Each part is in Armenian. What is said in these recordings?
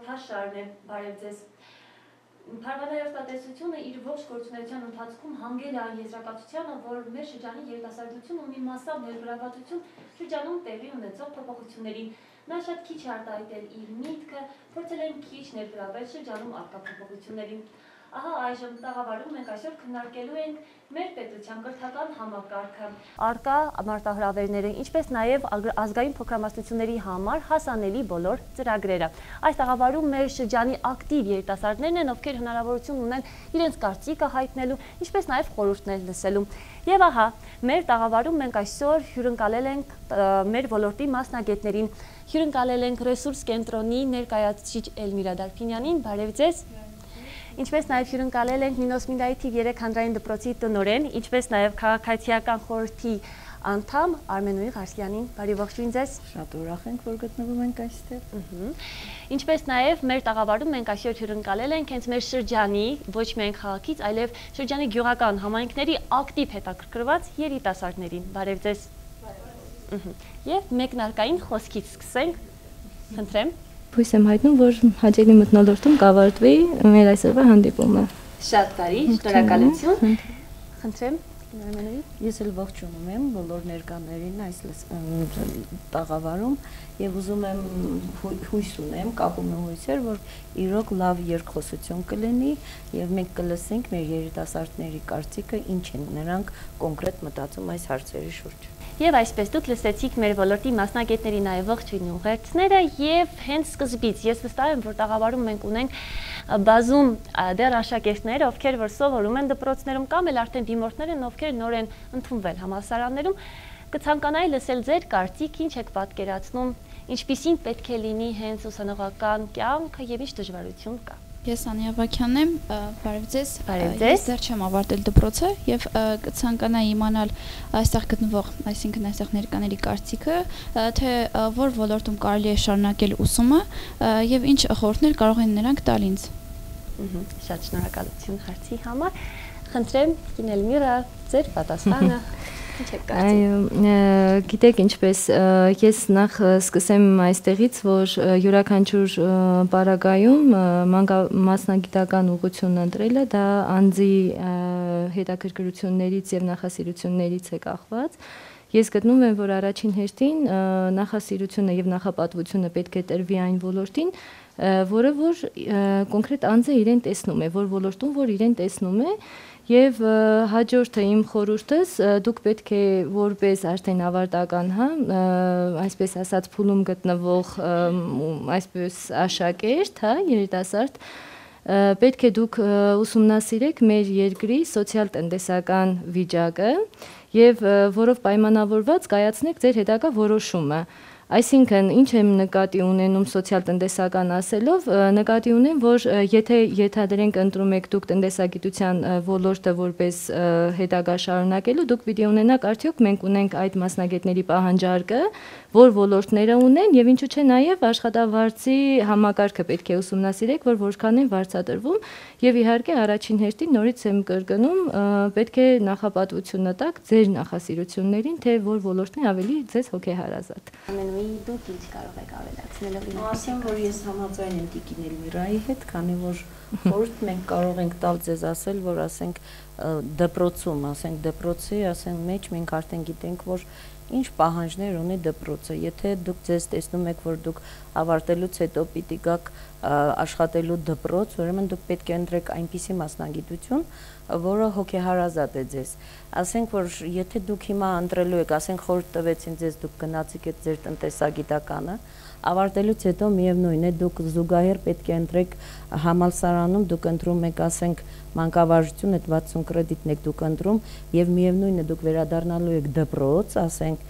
հաղորդաշարն է, բարև ձեզ։ Փառատոնի արտադրությունը իր ողջ գործունեության ընթացքում հանգել է այն եզրակացությանը, որ մեր շրջանի երիտասարդությունը մի մասամբ ներգրավվածություն շրջանում տեղի ունեցող փոփոխություններին։ Նա շատ քիչ է արտահայտել իր միտքը, փորձել են քիչ ներգրավել շրջանում առկա փոփոխություններին։ Ահա այժմ տաղավարում մենք այսօր քննարկելու ենք մեր պետության կրթական համակարգը, առկա մարտահրավերները, ինչպես նաև ազգային փոքրամասնությունների համար հասանելի բոլոր ծրագրերը։ Այս տաղավարում մեր շրջանի ակտիվ երիտասարդներն են, ովքեր հնարավորություն ունեն իրենց կարծիքը հայտնելու, ինչպես նաև խորհուրդներ լսելու։ Եվ ահա, մեր տաղավարում մենք այսօր հյուրընկալել ենք մեր ոլորտի մասնագետներին, հյուրընկալել ենք ռեսուրս կենտրոնի ներկայացուցիչ Էլմիրա Դարփինյանին, բարև ձեզ։ Ինչպես նաև հյուրընկալել ենք Մինոսմինդայի թիվ 3 հանրային դպրոցի տնօրեն, ինչպես նաև քաղաքացիական խորհրդի անդամ Արմենուհի Ղարսյանին, բարի ողջույն ձեզ։ Շատ ուրախ ենք, որ գտնվում ենք այստեղ։ Ինչպես նաև մեր տաղավարում մենք այսօր հյուրընկալել ենք հենց մեր շրջանի, ոչ միայն քաղաքից, այլև շրջանի գյուղական համայնքների ակտիվ հետաքրքրված երիտասարդներին, բարև ձեզ։ Եվ մեկնարկային խոսքից սկսենք, խնդրեմ։ Հույս եմ հայտնում, որ հաճելի մթնոլորտում կավարտվի մեր այսօրվա հանդիպումը։ Շատ բարի, շնորհակալություն։ Խնդրեմ, Արմենուհի։ Ես էլ ողջունում եմ բոլոր ներկաներին այս տաղավարում եւ ուզում եմ հույս ունեմ, կապում եմ հույսեր, որ իրոք լավ երկխոսություն կլինի եւ մենք կլսենք մեր երիտասարդների կարծիքը, ինչ են նրանք կոնկրետ մտածում այս հարցերի շուրջ։ Եվ այսպես դուք լսեցիք մեր ոլորտի մասնագետների նաև ողջույն ուղերձները եւ հենց սկզբից ես վստահ եմ, որ տաղավարում մենք ունենք բազում դեռ աշակերտներ, ովքեր որ սովորում են դպրոցներում կամ էլ արդեն դիմորդներ են, ովքեր նոր են ընդունվել համալսարաններում, կցանկանայի լսել ձեր կարծիք, ինչ եք պատկերացնում, ինչպիսին պետք է լինի հենց ուսանողական կյանքը եւ ինչ դժվարություն կա։ Ես Անիա Վաքյանն եմ, բարև ձեզ։ Ես դեռ չեմ ավարտել դպրոցը եւ կցանկանայի իմանալ այստեղ գտնվող, այսինքն այստեղ ներկաների կարծիքը, թե որ ոլորտում կարելի է շարունակել ուսումը եւ ինչ խորհուրդներ կարող են նրանք տալ ինձ։ Շատ շնորհակալություն հարցի համար։ Խնդրեմ, Էլմիրա, ձեր պատասխանը։ Գիտեք ինչպես, ես նախ սկսեմ այստեղից, որ յուրաքանչյուր պարագայում մասնագիտական ուղղություն ընտրելը դա անձի հետաքրքրություններից եւ նախասիրություններից է կախված։ Ես գտնում եմ, որ առաջին հերթին նախասիրությունը եւ նախապատվությունը պետք է տրվի այն ոլորտին, որը որ կոնկրետ անձը իրեն տեսնում է, որ ոլորտում որ իրեն տեսնում է, եւ հաջորդը իմ խորհուրդս դուք պետք է որպես արդեն ավարտական, այսպես ասած փուլում գտնվող այսպես աշակերտ, երիտասարդ, պետք է դուք ուսումնասիրեք մեր երկրի սոցիալ-տնտեսական վիճակը եւ որով պայմանավորված կայացնեք ձեր հետագա որոշումը։ Այսինքն, ինչ եմ նկատի ունենում սոցիալ-տնտեսական ասելով, նկատի ունեմ, որ եթե ենթադրենք ընտրում եք դուք տնտեսագիտության ոլորտը որպես հետագա շարունակելու, դուք պիտի ունենաք արդյոք մենք ունենք այդ մասնագետների պահանջարկը, որ ոլորտները ունեն եւ ինչու՞ չէ նաեւ աշխատավարձի համակարգը պետք է ուսումնասիրեք, որ որքան են վարձատրվում եւ իհարկե առաջին հերթին նորից եմ կրկնում, պետք է նախապատվությունը տաք ձեր նախասիրություններին, թե որ ոլորտն է ավելի ձեզ հոգեհարազատ։ Դուք ինչ կարող եք ավելացնել։ Ասեմ, որ ես համաձայն եմ Տիկին Էլմիրայի հետ, քանի որ խորհուրդ մենք կարող ենք տալ ձեզ ասել, որ ասենք դպրոցում, ասենք դպրոցի, ասենք մեջ մենք արդեն գիտենք, որ ինչ պահանջներ ունի դպրոցը։ Եթե դուք ձեզ տեսնում եք, որ դուք ավարտելուց հետո պիտի գաք աշխատելու դպրոց, ուրեմն դուք պետք է ընտրեք այնպիսի մասնագիտություն, որը հոգեհարազատ է ձեզ։ Ասենք, որ եթե դուք հիմա ընտրելու եք, ասենք խորհուրդ տվեցին ձեզ, դուք գնացիք այդ ձեր տնտեսագիտականը, ավարտելուց հետո միևնույն է, դուք զուգահեռ պետք է ընտրեք համալսարանում, դուք ընտրում եք, ասենք, մանկավարժություն, այդ 60 կրեդիտն եք դուք ընտրում եւ միևնույն է, դուք վերադառնալու եք դպրոց, ասենք,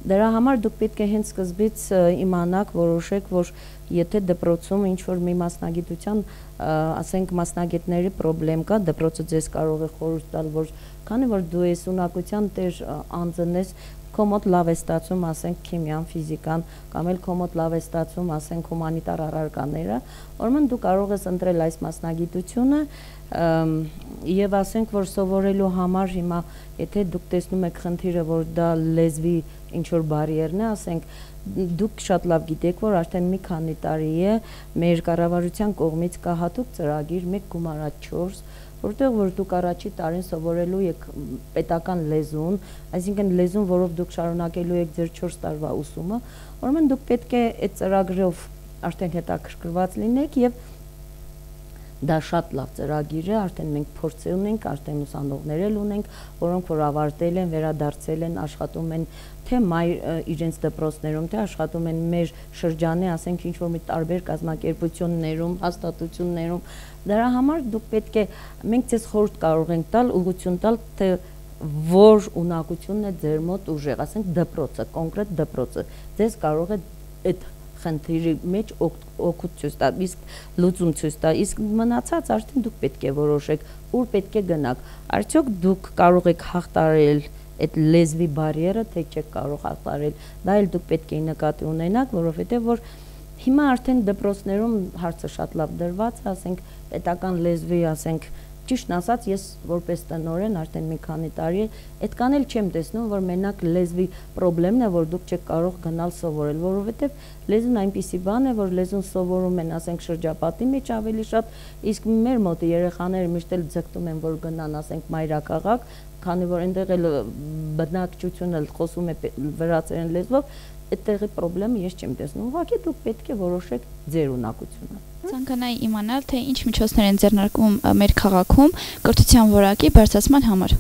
դրա համար դուք պետք է հենց սկզբից իմանաք, որոշեք, որ եթե դպրոցում ինչ-որ մի մասնագիտության, ասենք, մասնագետների պրոբլեմ կա, դպրոցը ձեզ կարող է խորհուրդ տալ, որ քանի որ դու ես ունակության տեր անձն ես, քո մոտ լավ է ստացվում, ասենք, քիմիան, ֆիզիկան, կամ էլ քո մոտ լավ է ստացվում, ասենք, հումանիտար առարկաները, ուրեմն դու կարող ես ընտրել այս մասնագիտությունը եւ ասենք, որ սովորելու համար հիմա, եթե դուք տեսնում եք խնդիրը, որ դա լեզվի ինչ որ բարիերն է, ասենք, դուք շատ լավ գիտեք, որ արդեն մի քանի տարի է մեր կառավարության կողմից կա հատուկ ծրագիր 1 գումարած 4, որտեղ որ դուք առաջի տարին սովորելու եք պետական լեզուն, այսինքն լեզուն, որով դուք շարունակելու եք ձեր 4 տարվա ուսումը, ուրեմն դուք պետք է այդ ծրագրով արդեն հետաքրքրված լինեք եւ դա շատ լավ ծրագիր է, արդեն մենք փորձ ունենք, արդեն ուսանողներ էլ ունենք, որոնք որ ավարտել են, վերադարձել են, աշխատում են թե իրենց դպրոցներում, թե աշխատում են մեր շրջանի, ասենք ինչ-որ մի տարբեր կազմակերպություններում, հաստատություններում։ Դրա համար դուք պետք է, մենք ձեզ խորհուրդ կարող ենք տալ, ուղղություն տալ, թե որ ունակությունն է ձեր մոտ ուժեղ, ասենք դպրոցը, կոնկրետ դպրոցը, ձեզ կարող է այդ խնդիրի մեջ օգուտ ցույց տա, իսկ լուծում ցույց տա, իսկ մնացած արդեն դուք պետք է որոշեք, ուր պետք է գնաք։ Արդյոք դուք կարող եք հաղթարել այդ լեզվի բարիերը, թե չեք կարող հաղթարել։ Դա էլ դուք պետք է նկատի ունենաք, որովհետև որ հիմա արդեն դպրոցներում հարցը շատ լավ դրված է, ասենք պետական լեզվի, ասենք ճիշտն ասած, ես որպես տնօրեն արդեն մի քանի տարի այդքան էլ չեմ տեսնում, որ մենակ լեզվի խնդիրն է, որ դուք չեք կարող գնալ սովորել, որովհետև լեզուն այնպիսի բան է, որ լեզուն սովորում են, ասենք շրջապատի մեջ ավելի շատ, իսկ մեր մոտ երեխաները միշտ էլ ձգտում են, որ գնան, ասենք մայրաքաղաք, քանի որ այնտեղ էլ բնակչությունը խոսում է վրացերեն լեզվով, այդտեղի խնդիրը ես չեմ տեսնում, ուղղակի դուք պետք է որոշեք ձեր ունակությունը։ Ցանկանայի իմանալ, թե ինչ միջոցներ են ձեռնարկում մեր քաղաքում կրթության որակի բարձրացման համար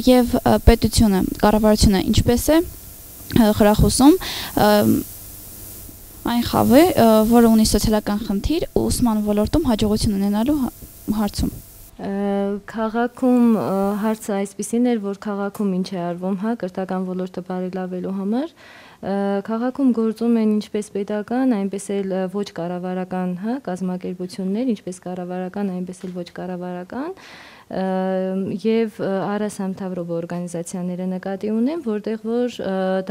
եւ պետությունը, կառավարությունը ինչպես է խրախուսում այն խավը, որը ունի սոցիալական խնդիր ուսման ոլորտում հաջողություն ունենալու հարցում։ Քաղաքում հարցը այսպեսին էր, որ քաղաքում ինչ է արվում, հա, կրթական ոլորտը բարելավելու համար, քաղաքում գործում են ինչպես պետական, այնպես էլ ոչ կառավարական, հա, կազմակերպություններ, ինչպես կառավարական, այնպես էլ ոչ կառավարական, եւ առասամთავრობო օրգանիզացիաները նկատի ունեն, որտեղ որ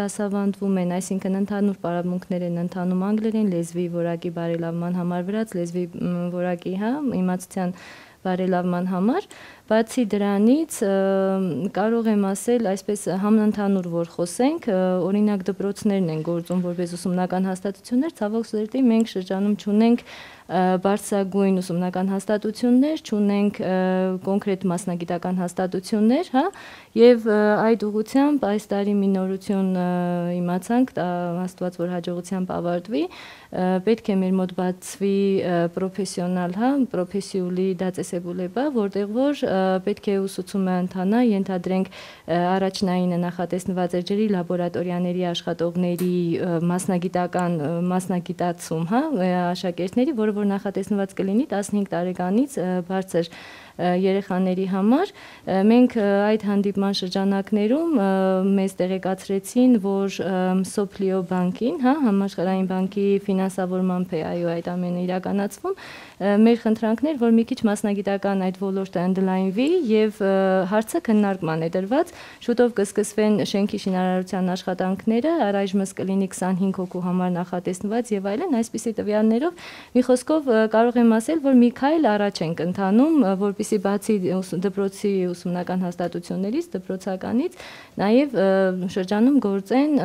դասավանդվում են, այսինքն ընդհանուր պարապմունքներ են ընթանում անգլերեն լեզվի որակի բարելավման համար, վրաց լեզվի որակի, հա, իմացության բարելավման համար, բացի դրանից կարող եմ ասել, այսպես համընդհանուր որ խոսենք, օրինակ դպրոցներն են գործում որպես ուսումնական հաստատություններ, ցավոք սրտի մենք շրջանում չունենք բարձրագույն ուսումնական հաստատություններ, չունենք կոնկրետ մասնագիտական հաստատություններ, հա, եւ այդ ուղղությամբ այս տարի մի նորություն իմացանք, Աստված որ հաջողությամբ ավարտվի, պետք է մեր մոտ բացվի պրոֆեսիոնալ, հա, պրոֆեսիուլի դասեսեբուլեբա, որտեղ որ պետք է ուսուցումը ընթանա, ենթադրենք առաջնայինը նախատեսնված է ջրի լաբորատորիաների աշխատողների մասնագիտական մասնագիտացում, հա, աշակերտների, որը որ նախատեսնված կլինի 15 տարեկանից բարձր երեխաների համար, մենք այդ հանդիպման շրջանակներում մեզ տեղեկացրեցին, որ Սոփլիո բանկին, հա, համաշխարհային բանկի ֆինանսավորմամբ է այդ ամենը իրականացվում, մեր խնդրանքներ, որ մի քիչ մասնագիտական այդ ոլորտը ընդլայնվի եւ հարցը քննարկման է դրված, շուտով կսկսվեն շենքի շինարարության աշխատանքները, առայժմս կլինի 25 հոգու համար նախատեսված եւ այլն, այսպիսի տվյալներով մի խոսքով կարող եմ ասել, որ մի քայլ առաջ ենք ընթանում, որպեսզի բացի դպրոցի ուսումնական հաստատություններից, դպրոցականից, նաեւ շրջանում գործեն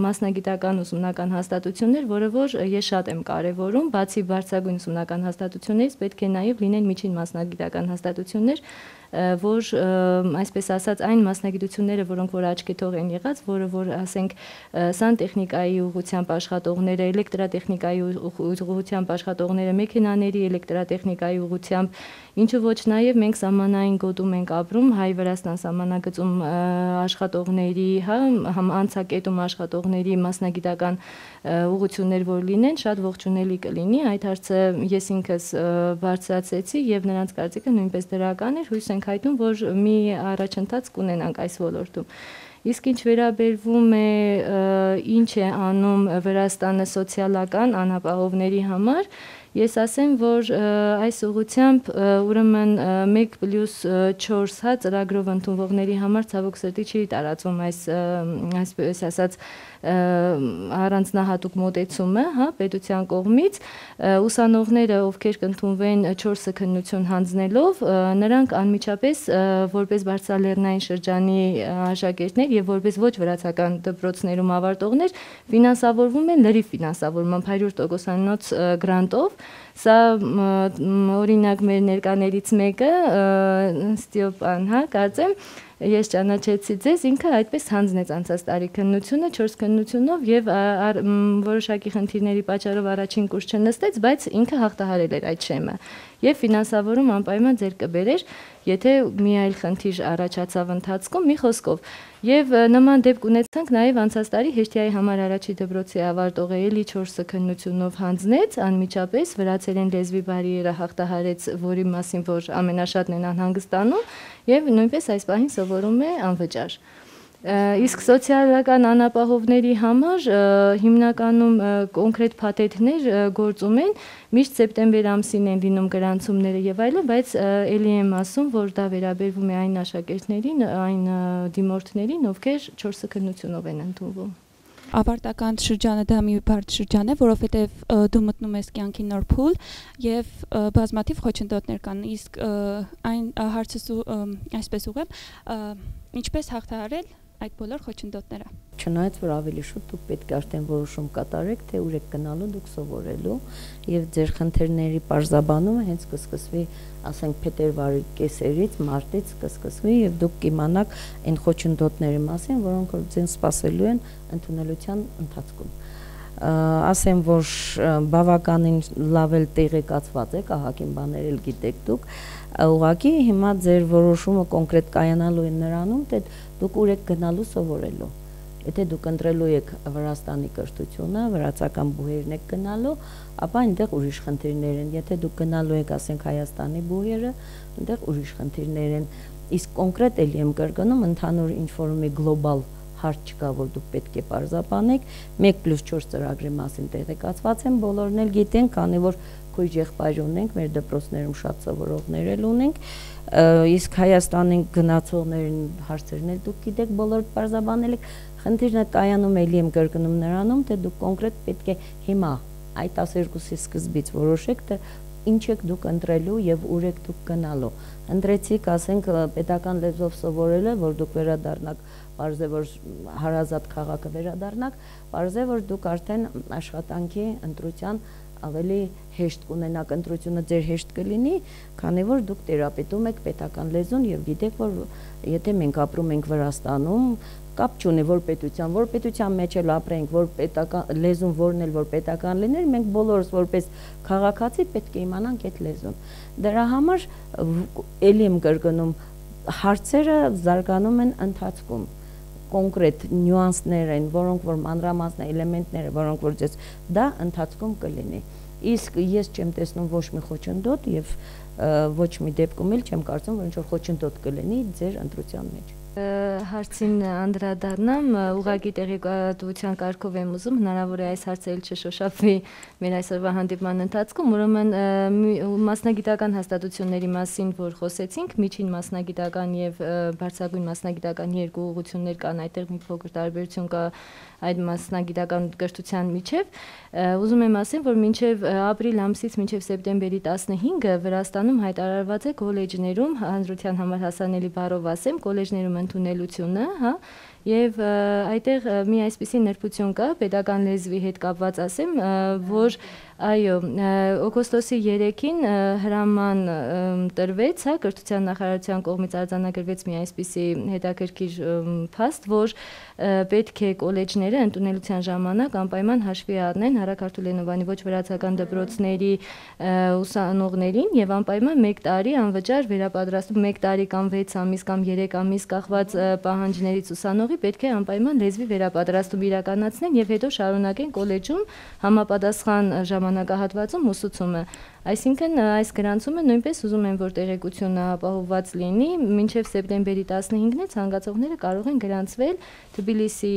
մասնագիտական ուսումնական հաստատություններ, որը որ ես շատ եմ կարեւորում, բացի բարձրագույն ուսումնական հաստատություններից պետք է նաեւ լինեն միջին մասնագիտական հաստատություններ, որ այսպես ասած այն մասնագիտությունները, որոնք որ աչքեթող են եղած, որը որ ասենք սանտեխնիկայի ուղղությամբ աշխատողները, էլեկտրատեխնիկայի ուղղությամբ աշխատողները, մեքենաների էլեկտրատեխնիկայի ուղղությամբ, ինչու ոչ նաև մենք սահմանային գոտում ենք ապրում, Հայ-Վրաստան սահմանագծում աշխատողների, հա, անցակետում աշխատողների մասնագիտական ուղղություններ որ լինեն, շատ ողջունելի կլինի, այդ հարցը ես ինքս բարձրացեցի եւ նրանց կարծիքը նույնպես դրական էր, հույս ենք հայտնում, որ մի առաջընթաց կունենանք այս ոլորտում։ Իսկ ինչ վերաբերվում է ինչ է անում Վրաստանը սոցիալական անապահովների համար, ես ասեմ, որ այս ուղղությամբ ուրեմն 1+4 հա ծրագրով ընդունվողների համար ցավոք սրտի չի տարածում այսպես ասած առանձնահատուկ մոտեցումը, հա, պետության կողմից ուսանողները, ովքեր կընդունվեն 4 քննություն հանձնելով, նրանք անմիջապես որպես բարձրալեռնային շրջանի աշակերտներ եւ որպես ոչ վրացական դպրոցներում ավարտողներ ֆինանսավորվում են լրիվ ֆինանսավորմամբ 100%-անոց գրանտով։ Սա օրինակ մեր ներկաներից մեկը Ստեփան, հա, կարծեմ ես ճանաչեցի ձեզ, ինքը այդպես հանձնեց անցած տարի քննությունը 4 քննությունով եւ որոշակի խնդիրների պատճառով առաջին կուրս չնստեց, բայց ինքը հաղթահարել էր այդ շեմը եւ ֆինանսավորում անպայման ձեր կբերեր, եթե մի այլ խնդիր առաջացավ ընթացքում, մի խոսքով։ Եվ նման դեպք ունեցանք նաեւ անցած տարի Հեշտիայի համար առաջի դպրոցի ավարտողը էլի 4 քննությունով հանձնեց, անմիջապես վրացերեն լեզվի բարիերը հաղթահարեց, որի մասին որ ամենաշատն են անհանգստանում եւ նույնպես այս պահին սովորում է անվճար։ Իսկ սոցիալական անապահովների համար հիմնականում կոնկրետ փաթեթներ գործում են, միշտ սեպտեմբեր ամսին են լինում գրանցումները եւ այլն, բայց ելի եմ ասում, որ դա վերաբերվում է այն աշակերտներին, այն դիմորդներին, ովքեր 4 քննությունով են ընդունվում։ Ավարտական շրջանը դա մի բարդ շրջան է, որովհետև դու մտնում ես կյանքի նոր փուլ եւ բազմաթիվ խոչընդոտներ կան, իսկ այն հարցս այսպես ուղղեմ, ինչպես հաղթահարել այդ բոլոր խոչընդոտները։ Չնայած որ ավելի շուտ դուք պետք է արդեն որոշում կատարեք, թե ուր եք գնալու դուք սովորելու եւ ձեր խնդիրների բարձրաբանումը հենց կսկսվի, ասենք փետրվարի կեսերից, մարտից կսկսվի եւ դուք կիմանաք այն խոչընդոտների մասին, որոնք որ ձեզ սպասելու են ընդունելության ընթացքում։ Ասեմ, որ բավականին լավ էլ տեղեկացված եք, ահագին բաներ էլ գիտեք դուք, ուղղակի հիմա ձեր որոշումը կոնկրետ կայանալու է նրանում, թե դուք ուր եք գնալու սովորելու։ Եթե դուք ընտրելու եք Վրաստանի կրթությունը, վրացական բուհերն եք գնալու, ապա այնտեղ ուրիշ խնդիրներ են։ Եթե դուք գնալու եք, ասենք Հայաստանի բուհերը, այնտեղ ուրիշ խնդիրներ են։ Իսկ կոնկրետ էլի եմ կրկնում, ընդհանուր ինչ-որ մի գլոբալ հարց չկա, որ դուք պետք է պարզաբանեք, 1+4 ծրագրի մասին տեղեկացված են, բոլորն էլ գիտեն, քանի որ քույր եղբայր ունենք, մեր դպրոցներում շատ սովորողներ էլ ունենք, իսկ Հայաստանին գնացողներին հարցերն էլ դուք գիտեք, բոլոր պարզաբանել եք, խնդիրը կայանում էլի եմ կրկնում նրանում, թե դուք կոնկրետ պետք է հիմա այդ 12-ի սկզբից որոշեք, թե ինչ եք դուք ընտրելու եւ ուր եք դուք գնալու։ Ընտրեցիք, ասենք, պետական լեզվով սովորելը, որ դուք վերադառնաք, պարզ է, որ հարազատ քաղաքը վերադառնաք, պարզ է, որ դուք արդեն աշխատանքի ընտրության ավելի հեշտ կունենաք, ընտրությունը ձեր հեշտ կլինի, քանի որ դուք տերապետում եք պետական լեզուն եւ գիտեք, որ եթե մենք ապրում ենք Վրաստանում, կապ չունի որ պետության մեջ էլ ապրենք, որ պետական լեզուն որն էլ որ պետական լիներ, մենք բոլորս որպես քաղաքացի պետք է իմանանք այդ լեզուն։ Դրա համար էլի եմ կրկնում, հարցերը զարգանում են ընթացքում, կոնկրետ նյուանսներ են, որոնք որ մանրամասն էլեմենտները, որոնք որ ձեզ դա ընթացքում կլինի։ Իսկ ես չեմ տեսնում ոչ մի խոչընդոտ եւ ոչ մի դեպքում էլ չեմ կարծում, որ ինչ-որ խոչընդոտ կլինի ձեր ընտրության մեջ։ Հարցին անդրադառնամ, ուղղակի տեղեկատվության կարգով եմ ուզում, հնարավոր է այս հարցը էլ չշոշափվի մեր այսօրվա հանդիպման ընթացքում, ուրեմն մասնագիտական հաստատությունների մասին, որ խոսեցինք, միջին մասնագիտական եւ բարձրագույն մասնագիտական երկու ուղղություններ կան, այդտեղ մի փոքր տարբերություն կա այդ մասնագիտական կրթության միջև, ուզում եմ ասեմ, որ մինչև ապրիլ ամսից մինչև սեպտեմբերի 15-ը Վրաստանում հայտարարված է կոլեջներում, հանրության համար հասանելի բառով ասեմ, կոլեջներում ընդունելությունը, հա, եւ այդտեղ մի այսպիսի նրբություն կա, պետական լեզվի հետ կապված ասեմ, որ այո, օգոստոսի 3-ին հրաման տրվեց, հա, կրթության նախարարության կողմից արձանագրվեց մի այսպիսի հետաքրքիր փաստ, որ պետք է կոլեջները ընդունելության ժամանակ անպայման հաշվի առնեն Հարակ Արտուլենովանի ոչ վրացական դպրոցների ուսանողներին եւ անպայման 1 տարի անվճար վերապատրաստում 1 տարի կամ 6 ամիս կամ 3 ամիս կախված պահանջներից ուսանողի ուսանողների պետք է անպայման լեզվի վերապատրաստում իրականացնեն եւ հետո շարունակեն կոլեջում համապատասխան ժամանակահատվածում ուսուցումը։ Այսինքն այս գրանցումը նույնպես ուզում են, որ տեղեկությունը ապահովված լինի, մինչև սեպտեմբերի 15-ն է ցանկացողները կարող են գրանցվել Թբիլիսի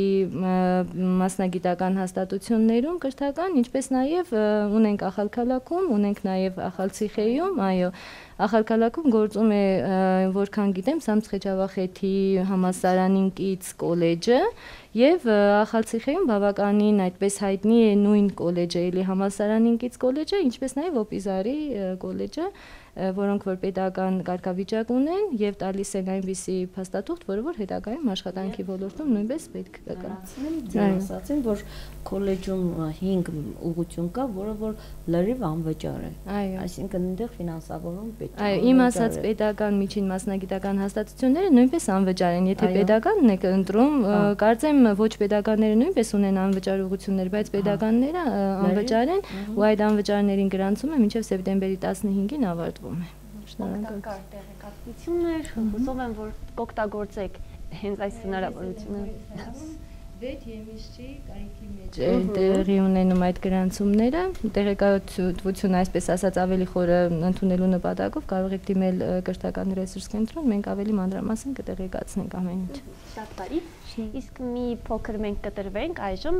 մասնագիտական հաստատություններում կրթական, ինչպես նաև ունենք Ախալքալաքում, ունենք նաև Ախալցիխեյում, այո, Ախալքալաքում գործում է, որքան գիտեմ, Սամցխեջավախեթի համալսարանին կից կոլեջը եւ Ախալցիխեյում բավականին այդպես հայտնի է նույն կոլեջը, էլի համալսարանին կից կոլեջը, ինչպես նաև Օպիզարի կոլեջը, որոնք որ պետական կարգավիճակ ունեն եւ տալիս են այնպիսի փաստաթուղթ, որը որ հետագայում աշխատանքի ոլորտում նույնպես պետք կգա։ Ձեր ասացին, որ կոլեջում 5 ուղղություն կա, որը որ լրիվ անվճար է։ Այսինքն այնտեղ ֆինանսավորում պետք է։ Այո, իմ ասած պետական միջին մասնագիտական հաստատությունները նույնպես անվճար են, եթե պետականն եք ընտրում, կարծեմ ոչ պետականները նույնպես ունեն անվճար ուղղություններ, բայց պետականները անվճար են, ու այդ անվճարներին գրանցումը մինչև սեպտեմբերի 15-ին ավարտվում է։ Օգտակար տեղեկատվություններ, հուսով եմ, որ կօգտագործեք հենց այս հնարավորությունը։ 6 եմիսչի կայքի մեջ տեղի ունենում այդ գրանցումները, տեղեկատվությունը, այսպես ասած, ավելի խորը ընդունելու նպատակով կարող եք դիմել կրթական ռեսուրս կենտրոն, մենք ավելի մանրամասն կտեղեկացնենք ամեն ինչ։ Շատ բարի։ Իսկ մի փոքր մենք կտրվենք այժմ,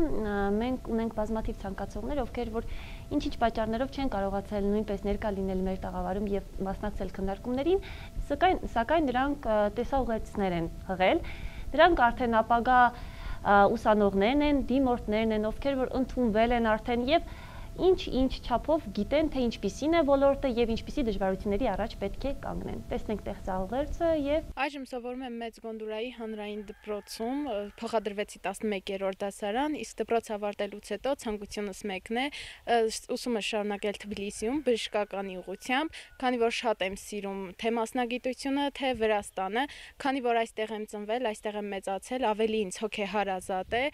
մենք ունենք բազմաթիվ ցանկացողներ, ովքեր որ ինչ-ինչ պատճառներով չեն կարողացել նույնպես ներկա լինել մեր տաղավարում եւ մասնակցել քննարկումներին, սակայն նրանք տեսաուղերձներ են հղել։ Դրանք արդեն ապագա ուսանողներն են, դիմորդներն են, ովքեր որ ընդունվել են արդեն եւ ինչ չափով գիտեն, թե ինչպիսին է ոլորտը եւ ինչպիսի դժվարությունների առաջ պետք է կանգնեն։ Տեսնենք տեղծաղերցը եւ այժմ սովորում եմ Մեծ Գոնդուրայի հանրային դպրոցում, փոխադրվեցի 11-րդ դասարան, իսկ դպրոց ավարտելուց հետո ցանկությունս մեկն է ուսումը շարունակել Թբիլիսիում բժշկականի ուղղությամբ, քանի որ շատ եմ սիրում թե մասնագիտությունը, թե Վրաստանը, քանի որ այստեղ եմ ծնվել, այստեղ եմ մեծացել, ավելի ինձ հոգեհարազատ է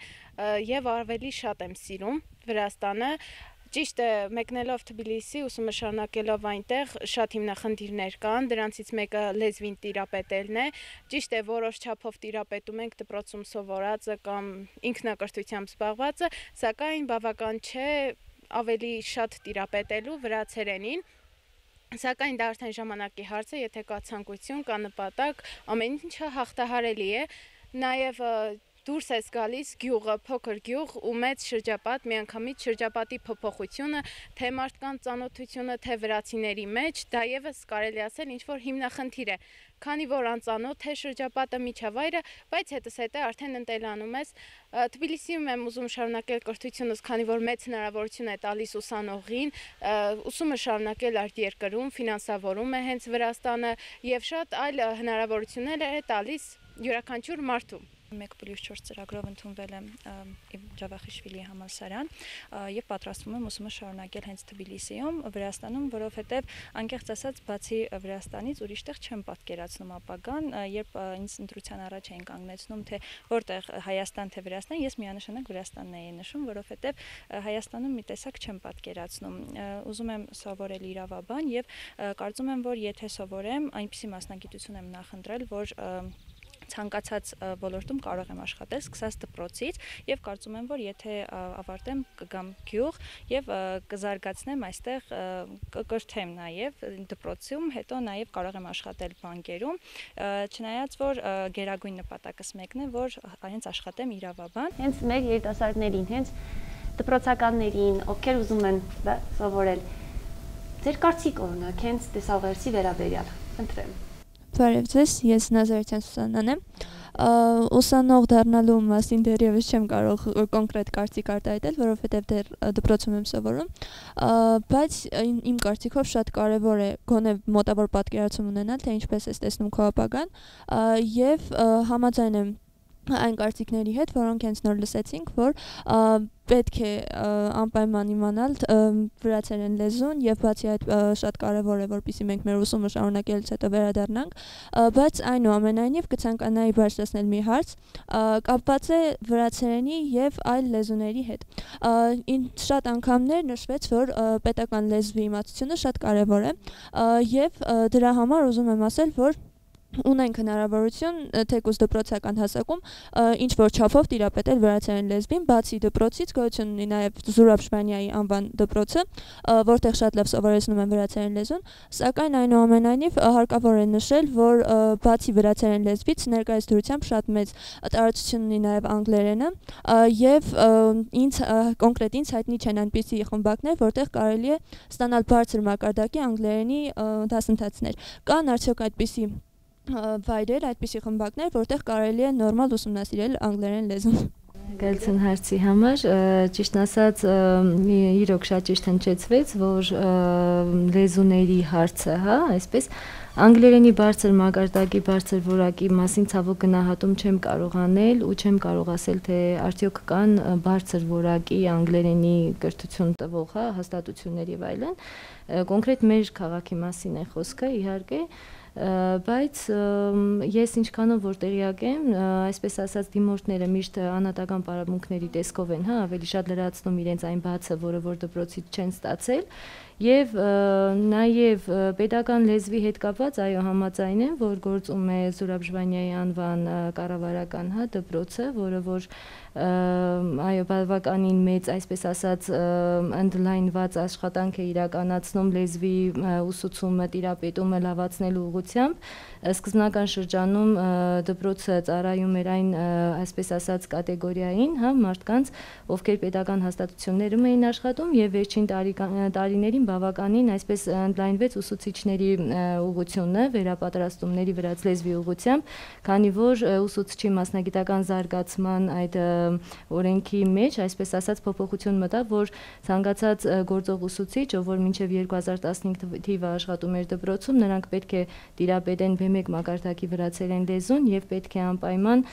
եւ ավելի շատ եմ սիրում Վրաստանը։ Ճիշտ է, մեկնելով Թբիլիսի, ուսումը շարունակելով այնտեղ շատ հիմնախնդիրներ կան, դրանցից մեկը լեզվին տիրապետելն է։ Ճիշտ է, որոշ չափով տիրապետում ենք դպրոցում սովորածը կամ ինքնակրթությամբ զբաղվածը, սակայն բավական չէ ավելի շատ տիրապետելու վրացերենին։ Սակայն դա արդեն ժամանակի հարց է, եթե կա ցանկություն, կա նպատակ, ամեն ինչը հաղթահարելի է։ Նաև դուրս ես գալիս գյուղը, փոքր գյուղ ու մեծ շրջապատ, միանգամից շրջապատի փոփոխությունը, թե մարդկանց ծանոթությունը, թե վրացիների մեջ, դա եւս կարելի ասել ինչ-որ հիմնախնդիր է, քանի որ անծանոթ է շրջապատը, միջավայրը, բայց հետզհետե արդեն ընտելանում ես։ Թբիլիսիում եմ ուզում շարունակել կրթությունս, քանի որ մեծ հնարավորություն է տալիս ուսանողին, ուսումը շարունակել արտերկրում, ֆինանսավորում է հենց Վրաստանը եւ շատ այլ հնարավորություններ է տալիս յուրաքանչյուր մարդու։ 1+4 ծրագրով ընդունվել եմ Ջավախիշվիլի համալսարան եւ պատրաստվում եմ ուսումը շարունակել հենց Թբիլիսիում, Վրաստանում, որովհետեւ անկեղծ ասած, բացի Վրաստանից ուրիշ տեղ չեմ պատկերացնում ապագան, երբ ինձ ընտրության առաջ էին կանգնեցնում, թե որտեղ Հայաստան թե Վրաստան, ես միանշանակ Վրաստանն էի նշում, որովհետեւ Հայաստանում մի տեսակ չեմ պատկերացնում։ Ուզում եմ սովորել իրավաբան եւ կարծում եմ, որ եթե սովորեմ, այնպիսի մասնագիտություն եմ նախընտրել, որ ցանկացած ոլորտում կարող եմ աշխատել, սկսած դպրոցից եւ կարծում եմ, որ եթե ավարտեմ կգամ գյուղ եւ կզարգացնեմ այստեղ, կկրթեմ նաեւ դպրոցում, հետո նաեւ կարող եմ աշխատել բանկերում, չնայած որ գերագույն նպատակս մեկն է, որ հենց աշխատեմ իրավաբան։ Հենց մեր երիտասարդներին, հենց դպրոցականներին, ովքեր ուզում են սովորել, ձեր կարծիքը օրինակ հենց տեսաուղերձի վերաբերյալ, խնդրեմ։ Բարև ձեզ, ես Նազարեթյան Սուսաննան եմ։ Ուսանող դառնալու մասին դեռևս չեմ կարող կոնկրետ կարծիք արտահայտել, որովհետև դեռ դպրոցում եմ սովորում, բայց իմ կարծիքով շատ կարևոր է գոնե մոտավոր պատկերացում ունենալ, թե ինչպես ես տեսնում քո ապագան, եւ համաձայն եմ այն կարծիքների հետ, որոնք հենց նոր լսեցինք, որ պետք է անպայման իմանալ վրացերեն լեզուն եւ բացի այդ շատ կարեւոր է, որպեսզի մենք մեր ուսումը շարունակելուց հետո վերադառնանք, բայց այնուամենայնիվ կցանկանայի բարձրացնել մի հարց, կապված է վրացերենի եւ այլ լեզուների հետ։ Շատ անգամներ նշվեց, որ պետական լեզվի իմացությունը շատ կարեւոր է եւ դրա համար ուզում եմ ասել, որ ունենք հնարավորություն թեկուզ դպրոցական հասակում ինչ որ չափով տիրապետել վրացերեն լեզվին, բացի դպրոցից գոյություն ունի նաև Զուրաբ Ժվանյայի անվան դպրոցը, որտեղ շատ լավ սովորեցնում են վրացերեն լեզուն, սակայն այնուամենայնիվ հարկավոր է նշել, որ բացի վրացերեն լեզվից ներկայիս դրությամբ շատ մեծ տարածություն ունի նաև անգլերենը եւ կոնկրետ ինձ հայտնի չեն այնպիսի խմբակներ, որտեղ կարելի է ստանալ բարձր մակարդակի անգլերենի դասընթացներ։ Կան արդյոք այդպիսի վայրեր, այդպիսի խմբակներ, որտեղ կարելի է նորմալ ուսումնասիրել անգլերեն լեզուն։ Գալցն հարցի համար ճիշտ ասած իրոք շատ ճիշտ հնչեցվեց, որ լեզուների հարցը, հա, այսպես անգլերենի բարձր մակարդակի, բարձր որակի մասին ցավոք գնահատում չեմ կարող անել ու չեմ կարող ասել, թե արդյոք կան բարձր որակի անգլերենի կրթություն տվող, հա, հաստատություններ եւ այլն։ Կոնկրետ մեր քաղաքի մասին է խոսքը, իհարկե, բայց ես ինչքանով որ տեղյակ եմ, այսպես ասած դիմորդները միշտ անհատական պարապմունքների տեսքով են, հա, ավելի շատ լրացնում իրենց այն բացը, որը որ դպրոցից չեն ստացել, եւ նաեւ պետական լեզվի հետ կապված, այո, համաձայն եմ, որ գործում է Զուրաբ Ժվանյայի անվան կառավարական, հա, դպրոցը, որը որ այո, բավականին մեծ, այսպես ասած, ընդլայնված աշխատանք է իրականացնում լեզվի ուսուցումը, տիրապետումը լավացնելու ուղղությամբ։ Սկզբնական շրջանում դպրոցը ծառայում էր այն, այսպես ասած, կատեգորիային, հա, մարդկանց, ովքեր պետական հաստատություններում էին աշխատում եւ վերջին տարիներին բավականին այսպես ընդլայնվեց ուսուցիչների ուղղությունը, վերապատրաստումների վրաց լեզվի ուղղությամբ, քանի որ ուսուցչի մասնագիտական զարգացման այդ օրենքի մեջ, այսպես ասած, փոփոխություն մտավ, որ ցանկացած գործող ուսուցիչ, ով որ մինչև 2015 թիվը աշխատում էր դպրոցում, նրանք պետք է տիրապետեն B1 մակարդակի վրացերեն լեզուն եւ պետք է անպայման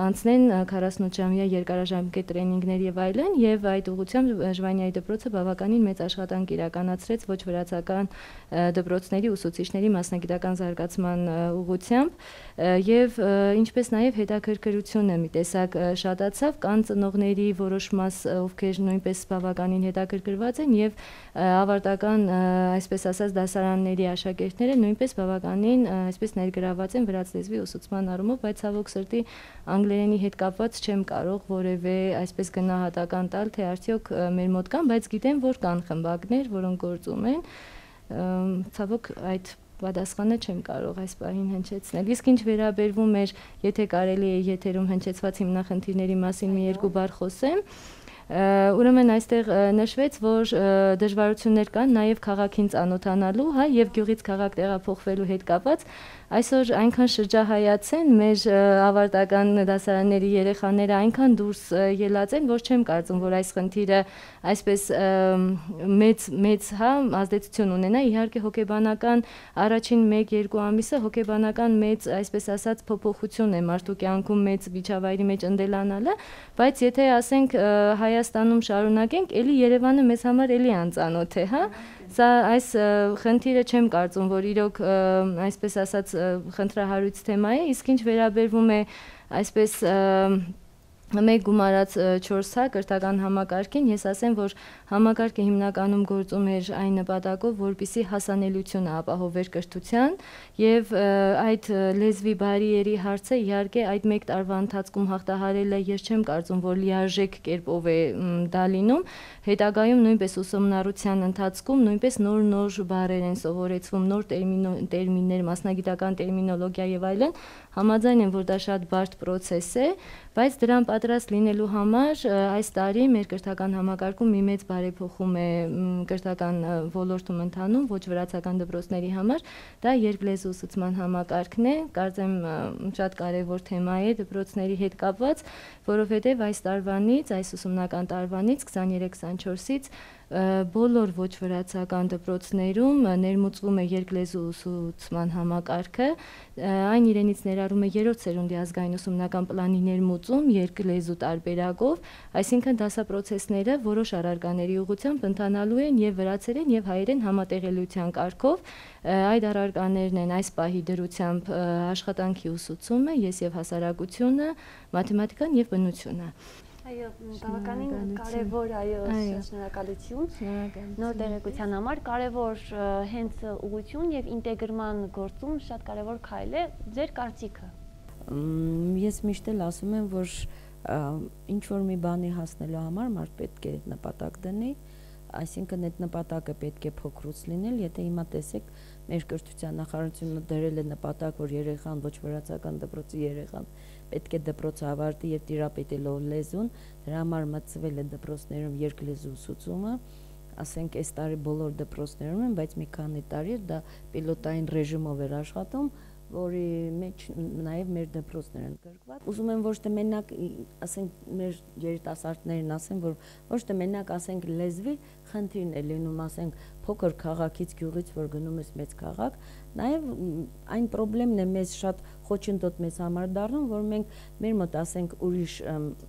անցնեն 48-ժամյա երկարաժամկետ տրեյնինգներ եւ այլն, եւ այդ ուղղությամբ Ժվանյայի դպրոցը բավականին մեծ աշխատանք իրականացրեց ոչ վրացական դպրոցների ուսուցիչների մասնագիտական զարգացման ուղղությամբ եւ ինչպես նաեւ հետաքրքրությունը մի տեսակ շատացավ, կան ծնողների որոշ մաս, ովքեր նույնպես բավականին հետաքրքրված են եւ ավարտական, այսպես ասած, դասարանների աշակերտները նույնպես բավականին այսպես ներգրաված են վրաց լեզվի ուսուցման առումով, բայց ցավոք սրտի անգլերենի հետ կապված չեմ կարող որևէ այսպես գնահատական տալ, թե արդյոք մեր մոտ կան, բայց գիտեմ, որ կան խմբակներ, որոնք գործում են, ցավոք այդ պատասխանը չեմ կարող այս պահին հնչեցնել։ Իսկ ինչ վերաբերվում էր, եթե կարելի է եթերում հնչեցված հիմնախնդիրների մասին մի երկու բառ խոսեմ, ուրեմն այստեղ նշվեց, որ դժվարություններ կան նաև քաղաքին ծանոթանալու, հա, եւ գյուղից քաղաք տեղափոխվելու հետ կապված, այսօր այնքան շրջահայաց են մեր ավարտական դասարանների երեխաները այնքան դուրս ելած են, որ չեմ կարծում, որ այս խնդիրը այսպես մեծ հա ազդեցություն ունենա, իհարկե հոգեբանական առաջին 1-2 ամիսը հոգեբանական մեծ, այսպես ասած, փոփոխություն է մարդու կյանքում մեծ միջավայրի մեջ ընդելանալը, բայց եթե ասենք Հայաստանում շարունակենք, էլի Երևանը մեզ համար էլի անծանոթ է, հա։ Սա այս խնդիրը չեմ կարծում, որ իրոք այսպես ասած խնդրահարույց թեմա է, իսկ ինչ վերաբերվում է այսպես մեկ գումարած 4 հա կրթական համակարգին, ես ասեմ, որ համակարգը հիմնականում գործում էր այն նպատակով, որպեսզի հասանելիությունը ապահովեր կրթության եւ այդ լեզվի բարիերի հարցը իհարկե այդ 1 տարվա ընթացքում հաղթահարելը ես չեմ կարծում, որ լիարժեք կերպով է դա լինում, հետագայում նույնպես ուսումնառության ընթացքում նույնպես նոր բառեր են սովորեցվում, նոր տերմիններ, մասնագիտական տերմինոլոգիա եւ այլն, համաձայն եմ, որ դա շատ բարդ process է, բայց դրան պատրաստ լինելու համար այս տարի մեր կրթական համակարգում մի մեծ բարեփոխում է կրթական ոլորտում ընթանում ոչ վրացական դպրոցների համար, դա երկլեզու ուսուցման համակարգն է, կարծեմ շատ կարևոր թեմա է դպրոցների հետ կապված, որովհետև այս տարվանից, այս ուսումնական տարվանից 23-24-ից բոլոր ոչ վրացական դպրոցներում ներմուծվում է երկլեզու ուսուցման համակարգը, այն իրենից ներառում է 3-րդ սերունդի ազգային ուսումնական պլանի ներմուծում երկլեզու տարբերակով, այսինքն դասապրոցեսները որոշ առարկաների ուղղությամբ ընթանալու են եւ վրացերեն եւ հայերեն համատեղելիության կարգով, այդ առարկաներն են այս պահի դրությամբ աշխատանքի ուսուցումը, ես եւ հասարակությունը, մաթեմատիկան եւ բնությունը։ Այո, բավականին կարևոր շնորհակալություն։ Նոր տեղեկության համար կարևոր հենց ուղղություն եւ ինտեգրման գործում շատ կարևոր քայլ է ձեր կարծիքը։ Ես միշտ էլ ասում եմ, որ ինչ որ մի բանի հասնելու համար մարդ պետք է նպատակ դնի, այսինքն այդ նպատակը պետք է փոքրուց լինել, եթե հիմա տեսեք մեր կրթության նախարարությունը դրել է նպատակ, որ երեխան ոչ վրացական դպրոցի երեխան պետք է դպրոցը ավարտի եւ տիրապետելով լեզուն, դրա համար մտցվել է դպրոցներում երկլեզու ուսուցումը, ասենք այս տարի բոլոր դպրոցներում են, բայց մի քանի տարի դա պիլոտային ռեժիմով էր աշխատում, որի մեջ նաև մեր դպրոցներ են գրկված։ Ուզում եմ ոչ թե մենակ, ասենք, մեր երիտասարդներին ասեմ, որ ոչ թե մենակ ասենք լեզվի խնդիրն է լինում, ասենք, փոքր քաղաքից գյուղից, որ գնում ես մեծ քաղաք, նաև այն խնդիրն է մեզ շատ խոչընդոտ մեզ համար դառնում, որ մենք մեր մոտ ասենք ուրիշ,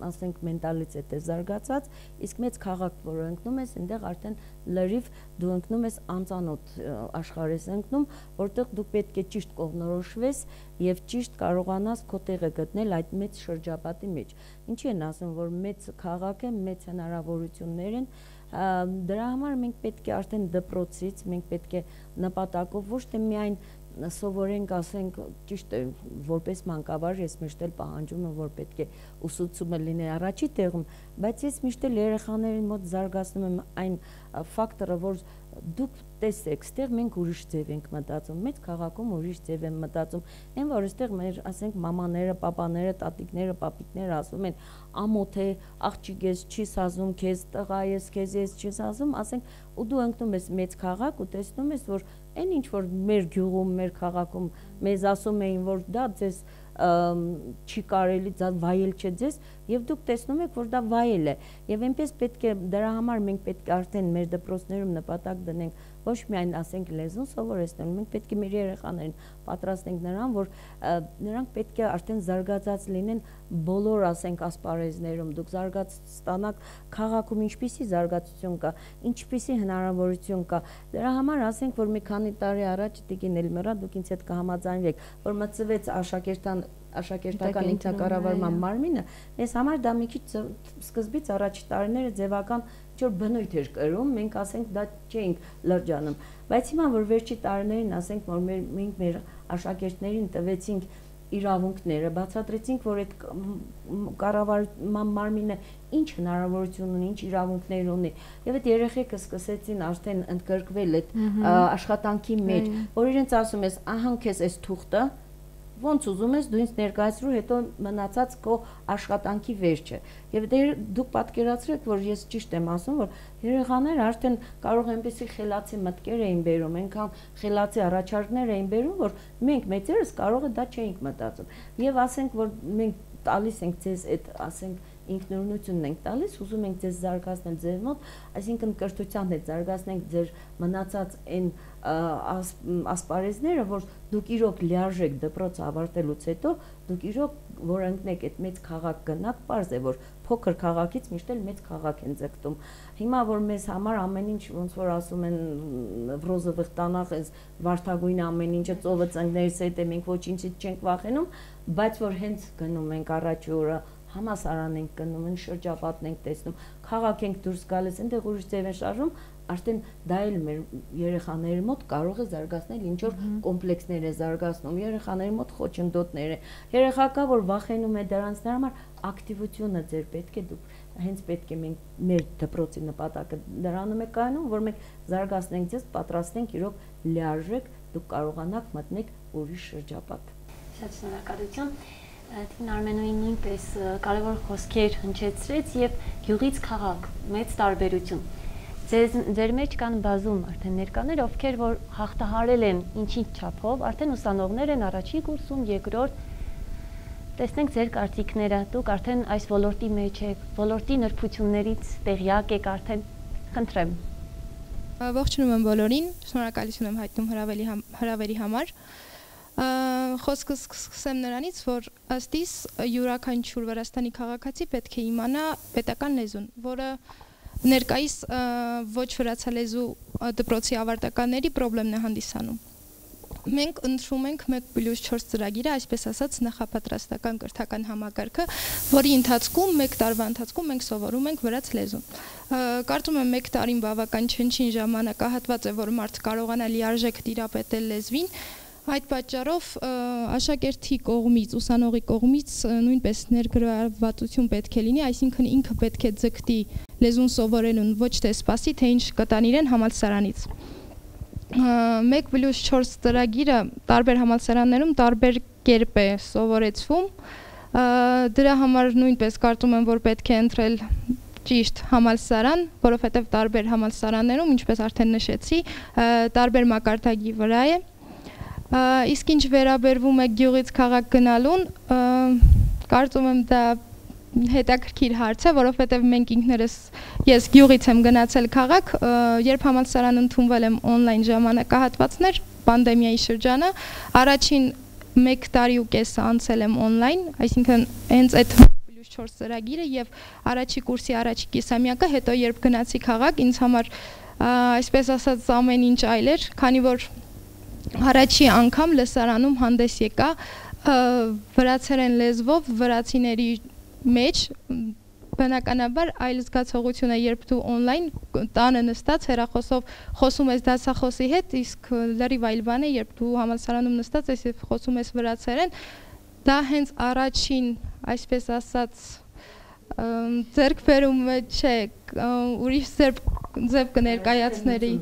ասենք մենտալիտետ է զարգացած, իսկ մեծ քաղաք, որ ընկնում ես, այնտեղ արդեն լրիվ դու ընկնում ես անծանոթ աշխարհ ես ընկնում, որտեղ դու պետք է ճիշտ կողմնորոշվես եւ ճիշտ կարողանաս քո տեղը գտնել այդ մեծ շրջապատի մեջ։ Ինչի են ասում, որ մեծ քաղաք է, մեծ հնարավորություններ են, դրա համար մենք պետք է արդեն դպրոցից, մենք պետք է նպատակով ոչ թե միայն սովորենք, ասենք, ճիշտ է, որպես մանկավար ես միշտ էլ պահանջում եմ, որ պետք է ուսուցումը լինի առաջի տեղում, բայց ես միշտ էլ երեխաների մոտ զարգացնում եմ այն ֆակտորը, որ դուք տեսեք, ստեղ մենք ուրիշ ձև ենք մտածում, մեծ քաղաքում ուրիշ ձև են մտածում, այն որ այստեղ մեր, ասենք, մամաները, պապաները, տատիկները, պապիկները ասում են, ամոթ է, աղջիկ ես չի սազում, քեզ տղա ես, քեզ ես չի սազում, ասենք, ու դու ընկնում ես մեծ քաղաք ու տեսնում ես, որ այն ինչ որ մեր գյուղում, մեր քաղաքում մեզ ասում էին, որ դա ձեզ չի կարելի, դա վայել չէ ձեզ, եւ դուք տեսնում եք, որ դա վայել է, եւ այնպես պետք է դրա համար մենք պետք է արդեն մեր դպրոցներում նպատակ դնենք ոչ միայն ասենք լեզուն սովորեցնել, մենք պետք է մեր երեխաներին պատրաստենք նրան, որ նրանք պետք է արդեն զարգացած լինեն բոլոր, ասենք, ասպարեզներում, դուք զարգաց ստանաք քաղաքում ինչպիսի զարգացություն կա, ինչպիսի հնարավորություն կա, դրա համար ասենք, որ մի քանի տարի առաջ Տիկին Էլմիրա, դուք ինձ հետ կհամաձայնվեք, որ մտցվեց աշակերտական ինքնակառավարման մարմինը, ես համար դա մի քիչ սկզբից առաջի տարիները ձևական ինչ-որ բնույթ էր կրում, մենք ասենք դա չէինք լրջանում, բայց հիմա որ վերջի տարիներին ասենք, որ մենք մեր աշակերտներին տվեցինք իրավունքները, բացատրեցինք, որ այդ կառավարման մարմինը ինչ հնարավորություն ունի, ինչ իրավունքներ ունի, եւ այդ երեխեքը սկսեցին արդեն ընդգրկվել այդ աշխատանքի մեջ, որ իրենց ասում ես, ահա քեզ այս թուղթը ոնց ուզում ես դու ինձ ներկայացրու, հետո մնացած քո աշխատանքի վերջը։ Եվ դուք պատկերացրեք, որ ես ճիշտ եմ ասում, որ երեխաները արդեն կարող այնպեսի խելացի մտքեր էին բերում, այնքան խելացի առաջարկներ էին բերում, որ մենք մեծերս կարող է դա չէինք մտածում։ Եվ ասենք, որ մենք տալիս ենք ձեզ այդ, ասենք, ինքնուրույնությունն ենք տալիս, ուզում ենք ձեզ զարգացնել ձեր մոտ, այսինքն կրթության հետ զարգացնենք ձեր մնացած այն ասպարեզները, որ դուք իրոք լիարժեք դպրոց ավարտելուց հետո, դուք իրոք որ ընկնեք այդ մեծ քաղաք գնաք, պարզ է, որ փոքր քաղաքից միշտ էլ մեծ քաղաք են ձգտում։ Հիմա որ մեզ համար ամեն ինչ ոնց որ ասում են վրոզը վխտանախ, այս վարդագույն ամեն ինչը ծովը ծնկներից հետ է, մենք ոչինչից չենք վախենում, բայց որ հենց գնում ենք առաջի օրը համասարան ենք գնում, են շրջապատն ենք տեսնում, քաղաք ենք դուրս գալիս, այնտեղ ուրիշ ձև են շարժում, արդեն դա էլ մեր երեխաների մոտ կարող է զարգացնել ինչ որ կոմպլեքսներ է զարգացնում, երեխաների մոտ խոչընդոտներ է, երեխա կա, որ վախենում է դրանց, դրա համար ակտիվությունը ձեր պետք է դուք հենց պետք է մենք մեր դպրոցի նպատակը դրանում է կայանում, որ մենք զարգացնենք ձեզ, պատրաստենք իրոք լիարժեք, դուք կարողանաք մտնեք ուրիշ շրջապատ։ Շատ շնորհակալություն։ Տիկին Արմենուին նույնպես կարևոր խոսքեր հնչեցրեց եւ գյուղից քաղաք մեծ տարբերություն։ Ձեր մեջ կան բազում արդեն ներկաներ, ովքեր որ հաղթահարել են ինչի չափով, արդեն ուսանողներ են առաջին կուրսում, երկրորդ։ Տեսնենք ձեր կարծիքները, դուք արդեն այս ոլորտի մեջ եք, ոլորտի նրբություններից տեղյակ եք արդեն, խնդրեմ։ Ողջունում եմ բոլորին, շնորհակալություն եմ հայտնում հրավերի համար։ Խոսքս սկսեմ նրանից, որ ըստ իս յուրաքանչյուր Վրաստանի քաղաքացի պետք է իմանա պետական լեզուն, որը ներկայիս ոչ վրացալեզու դպրոցի ավարտականների խնդիրն է հանդիսանում։ մենք ընտրում ենք 1+4 ծրագիրը, այսպես ասած նախապատրաստական կրթական համակարգը, որի ընթացքում 1 տարվա ընթացքում մենք սովորում ենք վրաց լեզուն։ Կարծում եմ 1 տարին բավական չնչին ժամանակահատված է, որ մարդ կարողանա լիարժեք տիրապետել լեզվին։ Այդ պատճառով աշակերտի կողմից, ուսանողի կողմից նույնպես ներգրավվածություն պետք է լինի, այսինքն ինքը պետք է ձգտի լեզուն սովորելուն, ոչ թե սպասի, թե ինչ կտան իրեն համալսարանից։ 1+4 ծրագիրը տարբեր համալսարաններում տարբեր կերպ է սովորեցվում, դրա համար նույնպես կարծում եմ, որ պետք է ընտրել ճիշտ համալսարան, որովհետև տարբեր համալսարաններում, ինչպես արդեն նշեցի, տարբեր մակարդակի վրա է։ Իսկ ինչ վերաբերվում է գյուղից քաղաք գնալուն, կարծում եմ դա հետաքրքիր հարց է, որովհետև մենք ինքներս, ես գյուղից եմ գնացել քաղաք, երբ համալսարան ընդունվել եմ օնլայն ժամանակահատվածներ, պանդեմիայի շրջանը, առաջին 1 տարի ու կես անցել եմ օնլայն, այսինքն հենց այդ 1+4 ծրագիրը եւ առաջի կուրսի առաջի կիսամյակը, հետո երբ գնացի քաղաք, ինձ համար այսպես ասած ամեն ինչ այլ էր, քանի որ առաջի անգամ լսարանում հանդես եկա վրացերեն լեզվով վրացիների մեջ, բնականաբար այլ զգացողություն է, երբ դու օնլայն տանը նստած հեռախոսով խոսում ես դասախոսի հետ, իսկ լրիվ այլ բան է, երբ դու համալսարանում նստած ես եւ խոսում ես վրացերեն, դա հենց առաջին, այսպես ասած, ձեռքբերումը չէ, ուրիշ ձև կներկայացների։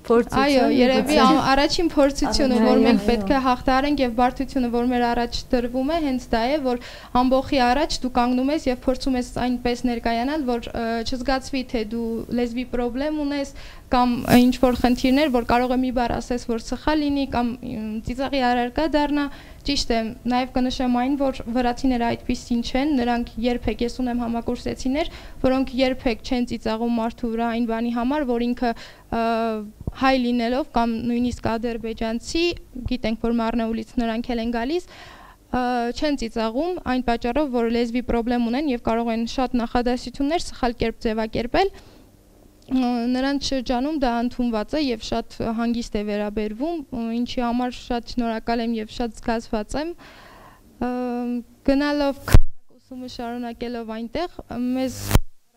Այո, երևի առաջին փորձությունը, որ մենք պետք է հաղթահարենք եւ բարդությունը, որ մեր առաջ դրվում է, հենց դա է, որ ամբողջի առաջ դու կանգնում ես եւ փորձում ես այնպես ներկայանալ, որ չզգացվի, թե դու լեզվի խնդրեմ ունես կամ ինչ որ խնդիրներ, որ կարող է մի բառ ասես, որ սխալ լինի կամ ծիծաղի առարկա դառնա։ Ճիշտ է, նաև կնշեմ այն, որ վրացիները այդպիսին չեն, նրանք երբեք, ես ունեմ համակուրսեցիներ, որոնք երբեք չեն ծիծաղում մարդու վրա այն բանի համար, որ ինքը հայ լինելով կամ նույնիսկ ադրբեջանցի, գիտենք, որ Մարնաուլից նրանք էլ են գալիս, չեն ծիծաղում այն պատճառով, որ լեզվի խնդրեմ ունեն եւ կարող են շատ նախադասություններ սխալ կերպ ձևակերպել, նրանց շրջանում դա ընդունված է եւ շատ հանգիստ է վերաբերվում, ինչի համար շատ շնորհակալ եմ եւ շատ զգացված եմ։ Գնալով ուսումը շարունակելով այնտեղ, մեզ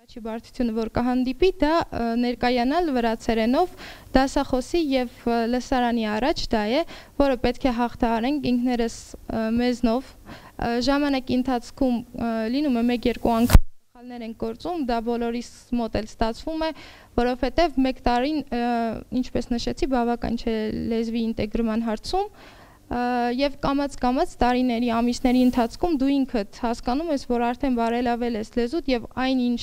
առաջի բարդությունը, որ կհանդիպի, դա ներկայանալ վրացերենով դասախոսի եւ լսարանի առաջ դա է, որը պետք է հաղթահարենք ինքներս մեզնով։ Ժամանակի ընթացքում լինում է 1-2 անգամ են գործում, դա բոլորիս մոտ էլ ստացվում է, որովհետև 1 տարին, ինչպես նշեցի, բավական չէ լեզվի ինտեգրման հարցում եւ կամաց տարիների, ամիսների ընթացքում դու ինքդ հասկանում ես, որ արդեն բարելավել ես լեզուդ եւ այնինչ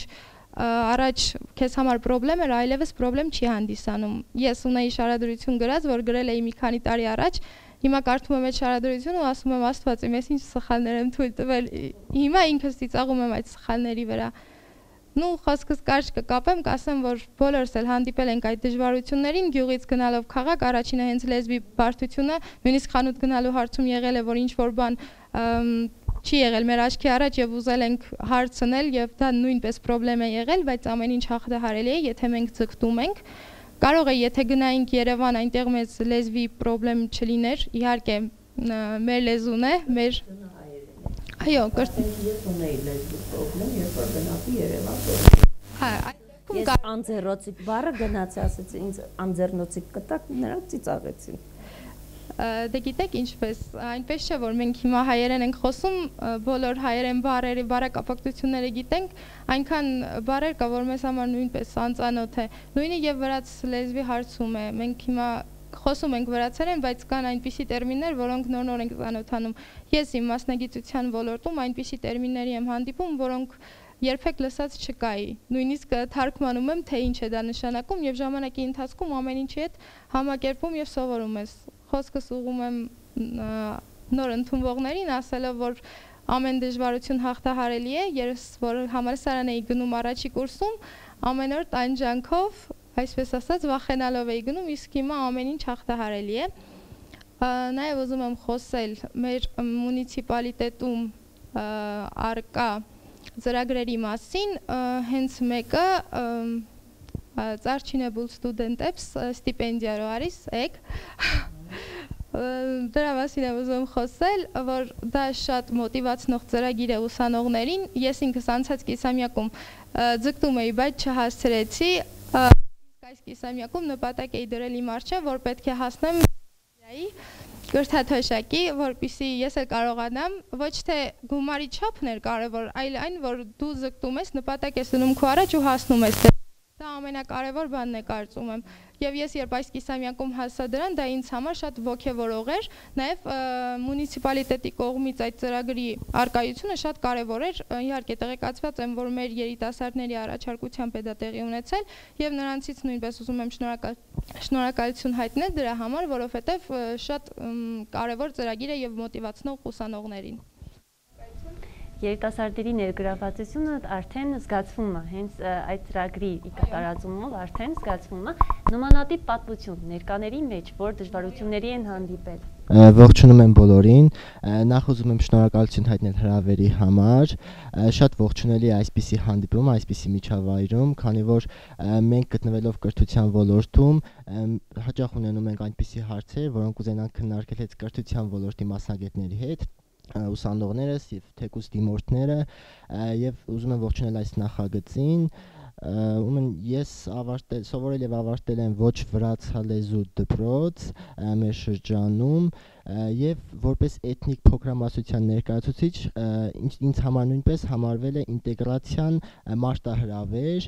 առաջ քեզ համար խնդրեմ էր, այլևս խնդրեմ չի հանդիսանում։ Ես ունեի շարադրություն գրած, որ գրել էի մի քանի տարի առաջ, հիմա կարդում եմ այդ շարադրությունը ու ասում եմ Աստված իմ, ես ինչ սխալներ եմ թույլ տվել, հիմա ինքս ծիծաղում եմ այդ սխալների վրա։ Նու խոսքս կարճ կկապեմ, կասեմ, որ բոլորս էլ հանդիպել ենք այդ դժվարություններին, գյուղից գնալով քաղաք, առաջինը հենց լեզվի բարդությունը, նույնիսկ խանութ գնալու հարցում եղել է, որ ինչ որ բան չի եղել մեր աչքի առաջ եւ ուզել ենք հարցնել եւ դա նույնպես խնդրեմ է եղել, բայց ամեն ինչ հաղթահարելի է, եթե մենք ձգտում ենք։ Կարող է, եթե գնայինք Երևան, այնտեղ մեզ լեզվի խնդրեմ չլիներ, իհարկե մեր լեզուն է, մեր այո, ես ունեի լեզվի խնդրեմ, երբ որ գնացի Երևան։ Ես անձեռնոցիկ բառը գնացի, ասեցի ինձ անձեռնոցիկ կտակ, նրանք ծիծաղեցին։ Դե գիտեք ինչպես, այնպես չէ, որ մենք հիմա հայերեն ենք խոսում, բոլոր հայերեն բառերի բառակապակցությունները գիտենք, այնքան բառեր կա, որ մեզ համար նույնպես անծանոթ է։ Նույնը եւ վրաց լեզվի հարցում է։ Մենք հիմա խոսում ենք վրացերեն, բայց կան այնպիսի տերմիններ, որոնք նոր ենք ծանոթանում։ Ես իմ մասնագիտության ոլորտում այնպիսի տերմինների եմ հանդիպում, որոնք երբեք լսած չկայի։ Նույնիսկ թարգմանում եմ, թե ինչ է դա նշանակում եւ ժամանակի ընթացքում ամեն ինչի հետ համակերպում եւ սովորում ես։ Խոսքս ուղղում եմ նոր ընդունվողներին, ասելով, որ ամեն դժվարություն հաղթահարելի է, ես որ համալսարան էի գնում առաջի կուրսում, ամեն օր տանջանքով, այսպես ասած, վախենալով էի գնում, իսկ հիմա ամեն ինչ հաղթահարելի է։ Նաև ուզում եմ խոսել մեր մունիցիպալիտետում արկա ծրագրերի մասին, հենց մեկը Ծարչինե բուլ ստուդենտებს ստիպենդիա ռոարիս եկ Դրա մասին եմ ուզում խոսել, որ դա շատ մոտիվացնող ծրագիր է ուսանողներին։ Ես ինքս անցած կիսամյակում ձգտում էի, բայց չհասցրեցի։ Այս կիսամյակում նպատակ էի դրել իմ առջև, որ պետք է հասնեմ կրթաթոշակի, որպեսզի ես էլ կարողանամ, ոչ թե գումարի չափն էր կարևոր, այլ այն, որ դու ձգտում ես, նպատակ ես դնում քո առաջ ու հասնում ես։ Դա ամենակարևոր բանն է կարծում եմ։ Եվ ես երբ այս կիսամյակում հասա դրան, դա ինձ համար շատ ոգևորող էր, նաև մունիցիպալիտետի կողմից այդ ծրագրի արկայությունը շատ կարևոր էր։ Իհարկե տեղեկացված եմ, որ մեր երիտասարդների առաջարկությամբ է դա տեղի ունեցել, եւ նրանցից նույնպես ուզում եմ շնորհակալություն հայտնել դրա համար, որովհետեւ շատ կարևոր ծրագիր է եւ մոտիվացնող ուսանողներին։ Երիտասարդների ներգրավվածությունը արդեն զգացվում է, հենց այդ ծրագրի կատարածումով արդեն զգացվում է նմանատիպ պատմություն ներկաների մեջ, որ դժվարությունների են հանդիպել։ Ողջունում եմ բոլորին, նախ ուզում եմ շնորհակալություն հայտնել հրավերի համար, շատ ողջունելի է այսպիսի հանդիպում, այսպիսի միջավայրում, քանի որ մենք գտնվելով կրթության ոլորտում հաճախ ունենում ենք այնպիսի հարցեր, որոնք կուզենանք քննարկել հետ կրթության ոլորտի մասնագետների հետ, ուսանողներս եւ թեկուզ դիմորդները, եւ ուզում եմ ողջունել այս նախագծին, ում ես սովորել եւ ավարտել եմ ոչ վրացալեզու դպրոց մեր շրջանում եւ որպես էթնիկ փոքրամասնության ներկայացուցիչ ինձ համար նույնպես համարվել է ինտեգրացիան մարտահրավեր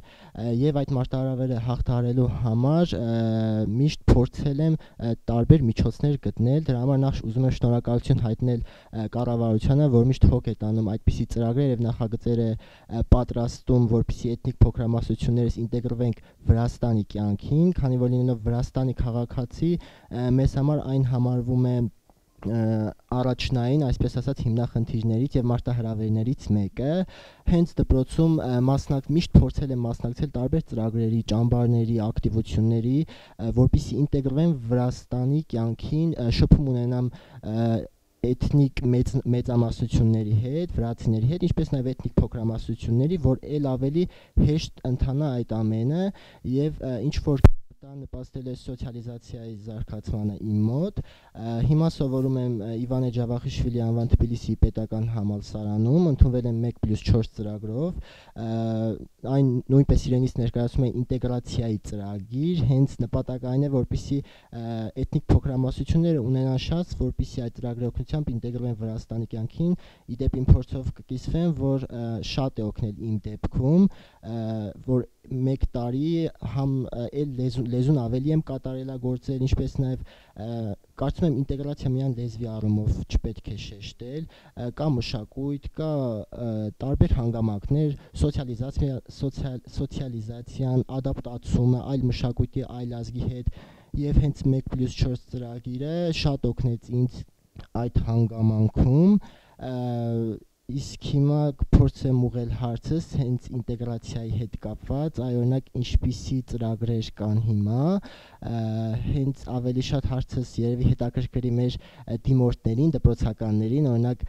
եւ այդ մարտահրավերը հաղթահարելու համար միշտ փորձել եմ տարբեր միջոցներ գտնել, դրա համար նախ ուզում եմ շնորհակալություն հայտնել կառավարությանը, որ միշտ հոգ է տանում այդպիսի ծրագրեր եւ նախագծեր է պատրաստում, որպեսզի էթնիկ փոքրամասնություններս ինտեգրվենք Վրաստանի կյանքին, քանի որ լինելով Վրաստանի քաղաքացի մեզ համար այն համարվում է առաջնային, այսպես ասած, հիմնախնդիրներից եւ մարտահրավերներից մեկը, հենց դպրոցում միշտ փորձել եմ մասնակցել տարբեր ծրագրերի, ճամբարների, ակտիվությունների, որպեսզի ինտեգրվեմ Վրաստանի կյանքին, շփում ունենամ էթնիկ մեծամասնությունների հետ, վրացիների հետ, ինչպես նաև էթնիկ փոքրամասնությունների, որ ել ավելի հեշտ ընթանա այդ ամենը եւ ինչ որ դա նպաստել է սոցիալիզացիայի զարգացմանը իմ մոտ։ Հիմա սովորում եմ Իվանե Ջավախիշվիլի անվան Թբիլիսիի պետական համալսարանում, ընդունվել եմ 1+4 ծրագրով։ Այն նույնպես իրենից ներկայացում է ինտեգրացիայի ծրագիր, հենց նպատակը այն է, որպեսզի էթնիկ փոքրամասնությունները ունենան շանս, որպեսզի այդ ծրագրի օգնությամբ ինտեգրվեն Վրաստանի կյանքին։ Իդեպ իմ փորձով կկիսվեմ, որ շատ է օգնել իմ դեպքում, որ 1 տարի համ լեզուն ավելի եմ կատարելագործել, ինչպես նաև կարծում եմ ինտեգրացիա միայն լեզվի առումով չպետք է շեշտել, կա մշակույթ, կա տարբեր հանգամանքներ, սոցիալիզացիան, ադապտացումը այլ մշակույթի, այլ ազգի հետ եւ հենց 1+4 ծրագիրը շատ օգնեց ինձ այդ հանգամանքում, իսկ հիմա կփորձեմ ուղղել հարցս հենց ինտեգրացիայի հետ կապված, օրինակ ինչպիսի ծրագրեր կան հիմա, հենց ավելի շատ հարցս երևի հետաքրքրի մեր դիմորդներին, դպրոցականներին, օրինակ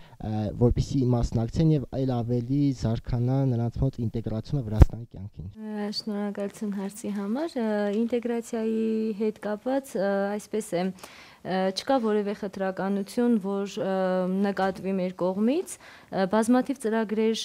որպեսզի մասնակցեն եւ այլ ավելի զարգանա նրանց մոտ ինտեգրացումը Վրաստանի կյանքին։ Շնորհակալություն հարցի համար, ինտեգրացիայի հետ կապված այսպես է չկա որևէ խտրականություն, որ նկատվի մեր կողմից, բազմաթիվ ծրագրեր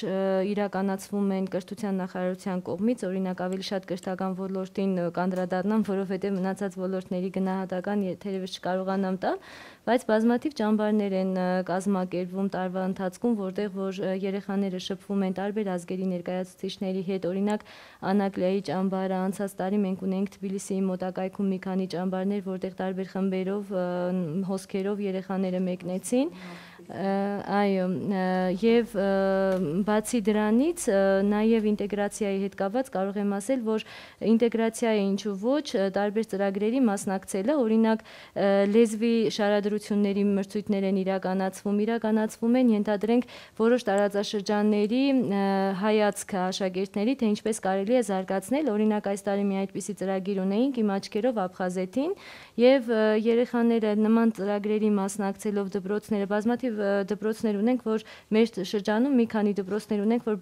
իրականացվում են կրթության նախարարության կողմից, օրինակ ավելի շատ կրթական ոլորտին կանդրադառնամ, որովհետև մնացած ոլորտների գնահատական թերևս չկարողանամ տալ, բայց բազմաթիվ ճամբարներ են կազմակերպվում տարվա ընթացքում, որտեղ որ երեխաները շփվում են տարբեր ազգերի ներկայացուցիչների հետ, օրինակ Անակլիայի ճամբարը, անցած տարի մենք ունենք Թբիլիսիի մոտակայքում մի քանի ճամբարներ, որտեղ տարբեր խմբերով հոսքերով երեխաները մեկնեցին, այո, եւ բացի դրանից նաեւ ինտեգրացիայի հետ կապված կարող եմ ասել, որ ինտեգրացիայի ինչու ոչ տարբեր ծրագրերի մասնակցելը, օրինակ լեզվի շարադրությունների մրցույթներ են իրականացվում են, ենթադրենք որոշ տարածաշրջանների հայացքը աշակերտների, թե ինչպես կարելի է զարգացնել, օրինակ այս տարի մի այդպիսի ծրագիր ունեինք իմ աչքերով Աբխազեթին եւ երեխաները նման ծրագրերի մասնակցելով դպրոցները բազմաթիվ դպրոցներ ունենք, որ մեր շրջանում մի քանի դպրոցներ ունենք, որ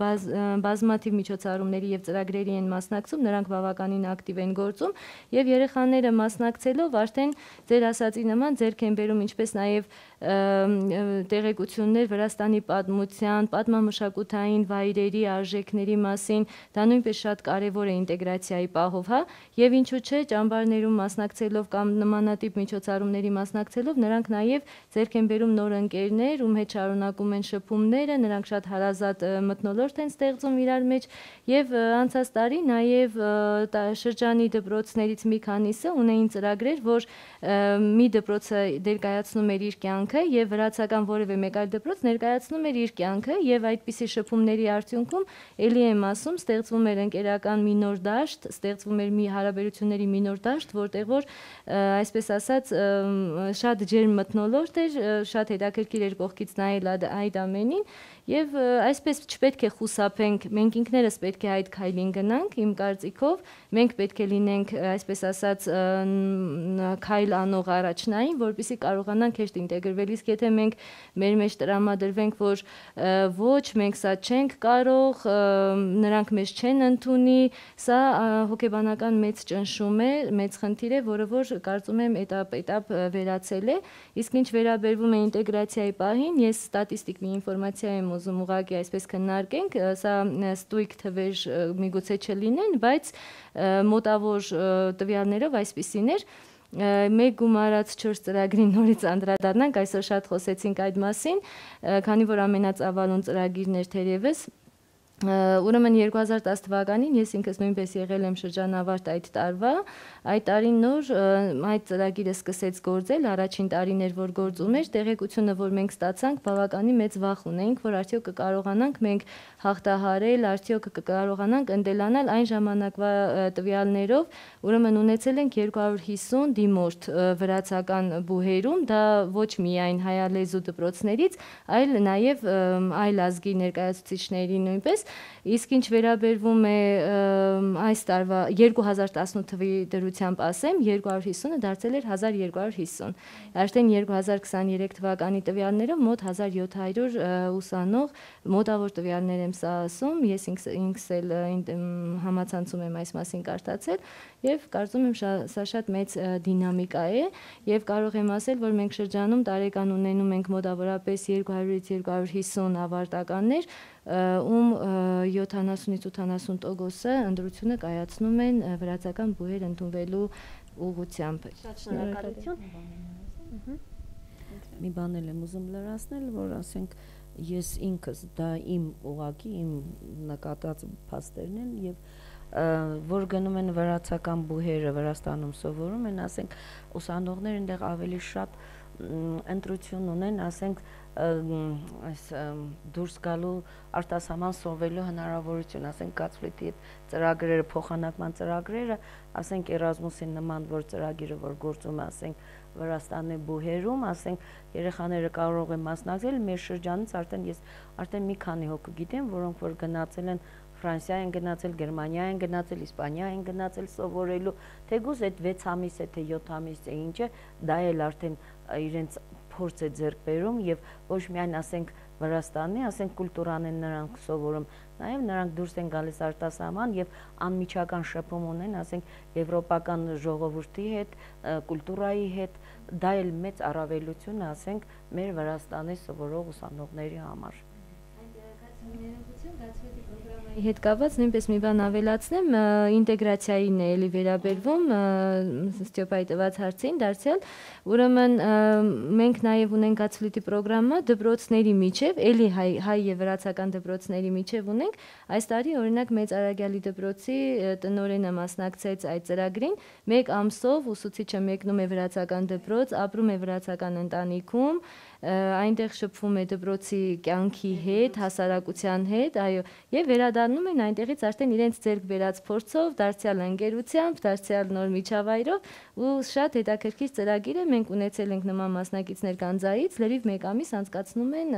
բազմաթիվ միջոցառումների եւ ծրագրերի են մասնակցում, նրանք բավականին ակտիվ են գործում եւ երեխաները մասնակցելով արդեն ձեր ասածի նման ձեռք են բերում ինչպես նաեւ տեղեկություններ Վրաստանի պատմության, պատմամշակութային վայրերի, արժեքների մասին, դա նույնպես շատ կարևոր է ինտեգրացիայի պահով, հա, եւ ինչու՞ չէ, ճամբարներում մասնակցելով կամ նմանատիպ միջոցառումների մասնակցելով նրանք նաեւ ձեռք են բերում նոր ընկերներ, ում հետ շարունակում են շփումները, նրանք շատ հարազատ մթնոլորտ են ստեղծում իրար մեջ եւ անցած տարի նաեւ շրջանի դպրոցներից մի քանիսը ունեին ծրագրեր, որ մի դպրոցը ներկայացնում էր իր կյանքը եւ վրացական որևէ մեկ այլ դպրոց ներկայացնում էր իր կյանքը եւ այդպիսի շփումների արդյունքում ելի եմ ասում ստեղծվում էր ընկերական մի նոր դաշտ, ստեղծվում էր մի հարաբերությունների մի նոր դաշտ, որտեղ որ այսպես ասած շատ ջերմ մթնոլորտ էր, շատ հետաքրքիր էր կողքից նայել այդ ամենին եւ այսպես չպետք է խուսափենք, մենք ինքներս պետք է այդ քայլին գնանք, իմ կարծիքով, մենք պետք է լինենք այսպես ասած քայլ անող առաջնային, որպեսզի կարողանանք հեշտ ինտեգրվել, իսկ եթե մենք մեր մեջ տրամադրվենք, որ ոչ, մենք սա չենք կարող, նրանք մեզ չեն ընդունի, սա հոգեբանական մեծ ճնշում է, մեծ խնդիր է, որը որ կարծում եմ этап վերացել է, իսկ ինչ վերաբերվում է ինտեգրացիայի պահին, ես ստատիստիկ մի ինֆորմացիա եմ ուզում ուղղակի այսպես քննարկենք, սա ստույգ թվեր միգուցե չլինեն, բայց մոտավոր տվյալներով այսպիսին էր, մեկ գումարած 4 ծրագրին նորից անդրադառնանք, այսօր շատ խոսեցինք այդ մասին, քանի որ ամենածավալուն ծրագիրն էր թերևս, ուրեմն 2010 թվականին ես ինքս նույնպես եղել եմ շրջանավարտ այդ տարվա, այդ տարին նոր այդ ծրագիրը սկսեց գործել, առաջին տարին էր, որ գործում էր, տեղեկությունը, որ մենք ստացանք, բավականին մեծ վախ ունեինք, որ արդյոք կկարողանանք մենք հաղթահարել, արդյոք կկարողանանք ընդելանալ այն ժամանակվա տվյալներով, ուրեմն ունեցել ենք 250 դիմորդ վրացական բուհերում, դա ոչ միայն հայալեզու դպրոցներից, այլ նաև այլ ազգի ներկայացուցիչների նույնպես, իսկ ինչ վերաբերվում է այս տարվա 2018 թվի դրությամբ ասեմ, 250-ը դարձել էր 1250, արդեն 2023 թվականի տվյալներով մոտ 1700 ուսանող, մոտավոր տվյալներ եմ սա ասում, ես ինքս էլ համացանցում եմ այս մասին կարդացել եւ կարծում եմ սա շատ մեծ դինամիկա է եւ կարող եմ ասել, որ մենք շրջանում տարեկան ունենում ենք մոտավորապես 200-ից 250 ավարտականներ, ում 70-ից 80%-ը ընտրությունը կայացնում են վրացական բուհեր ընդունվելու ուղղությամբ։ Շատ շնորհակալություն։ Մի բան եմ ուզում լրացնել, որ ասենք ես ինքս դա իմ ուղակի իմ նկատած փաստերն են եւ որ գնում են վրացական բուհերը Վրաստանում սովորում են, ասենք ուսանողները այնտեղ ավելի շատ ընտրություն ունեն, ասենք այս դուրս գալու արտասահման սովորելու հնարավորություն, ասենք Գացֆլիտի այդ ծրագրերը, փոխանակման ծրագրերը, ասենք Էրազմուսի նման որ ծրագիրը որ գործում է, ասենք Վրաստանի բուհերում, ասենք երեխաները կարող են մասնակցել, մեր շրջանից արդեն մի քանի հոգու գիտեմ, որոնք որ գնացել են Ֆրանսիա են գնացել, Գերմանիա են գնացել, Իսպանիա են գնացել սովորելու, թեկուզ այդ 6 ամիս է, թե 7 ամիս է, ինչ է, դա էլ արդեն իրենց փորձ է ձեռք բերում եւ ոչ միայն ասենք Վրաստանի, ասենք կուլտուրան են նրանք սովորում, նաեւ նրանք դուրս են գալիս արտասահման եւ անմիջական շփում ունեն, ասենք եվրոպական ժողովրդի հետ, կուլտուրայի հետ, դա էլ մեծ առավելություն է, ասենք մեր Վրաստանի սովորող ուսանողների համար։ Հետ կապված նույնպես մի բան ավելացնեմ, ինտեգրացիային է էլի վերաբերվում Ստյոպայի տված հարցին դարձյալ, ուրեմն մենք նաև ունենք Գացֆլիտի պրոգրամը դպրոցների միջև, էլի հայ եւ վրացական դպրոցների միջև ունենք, այս տարի օրինակ Մեծ Արագյալի դպրոցի տնօրենը մասնակցեց այդ ծրագրին, 1 ամսով ուսուցիչը մեկնում է վրացական դպրոց, ապրում է վրացական ընտանիքում, այնտեղ շփվում է դպրոցի կյանքի հետ, հասարակության հետ, այո, եւ վերադառնում են այնտեղից արդեն իրենց ձեռք բերած փորձով, դարձյալ ընկերությամբ, դարձյալ նոր միջավայրով ու շատ հետաքրքիր ծրագիր է, մենք ունեցել ենք նման մասնակիցներ Գանձայից, լրիվ 1 ամիս անցկացնում են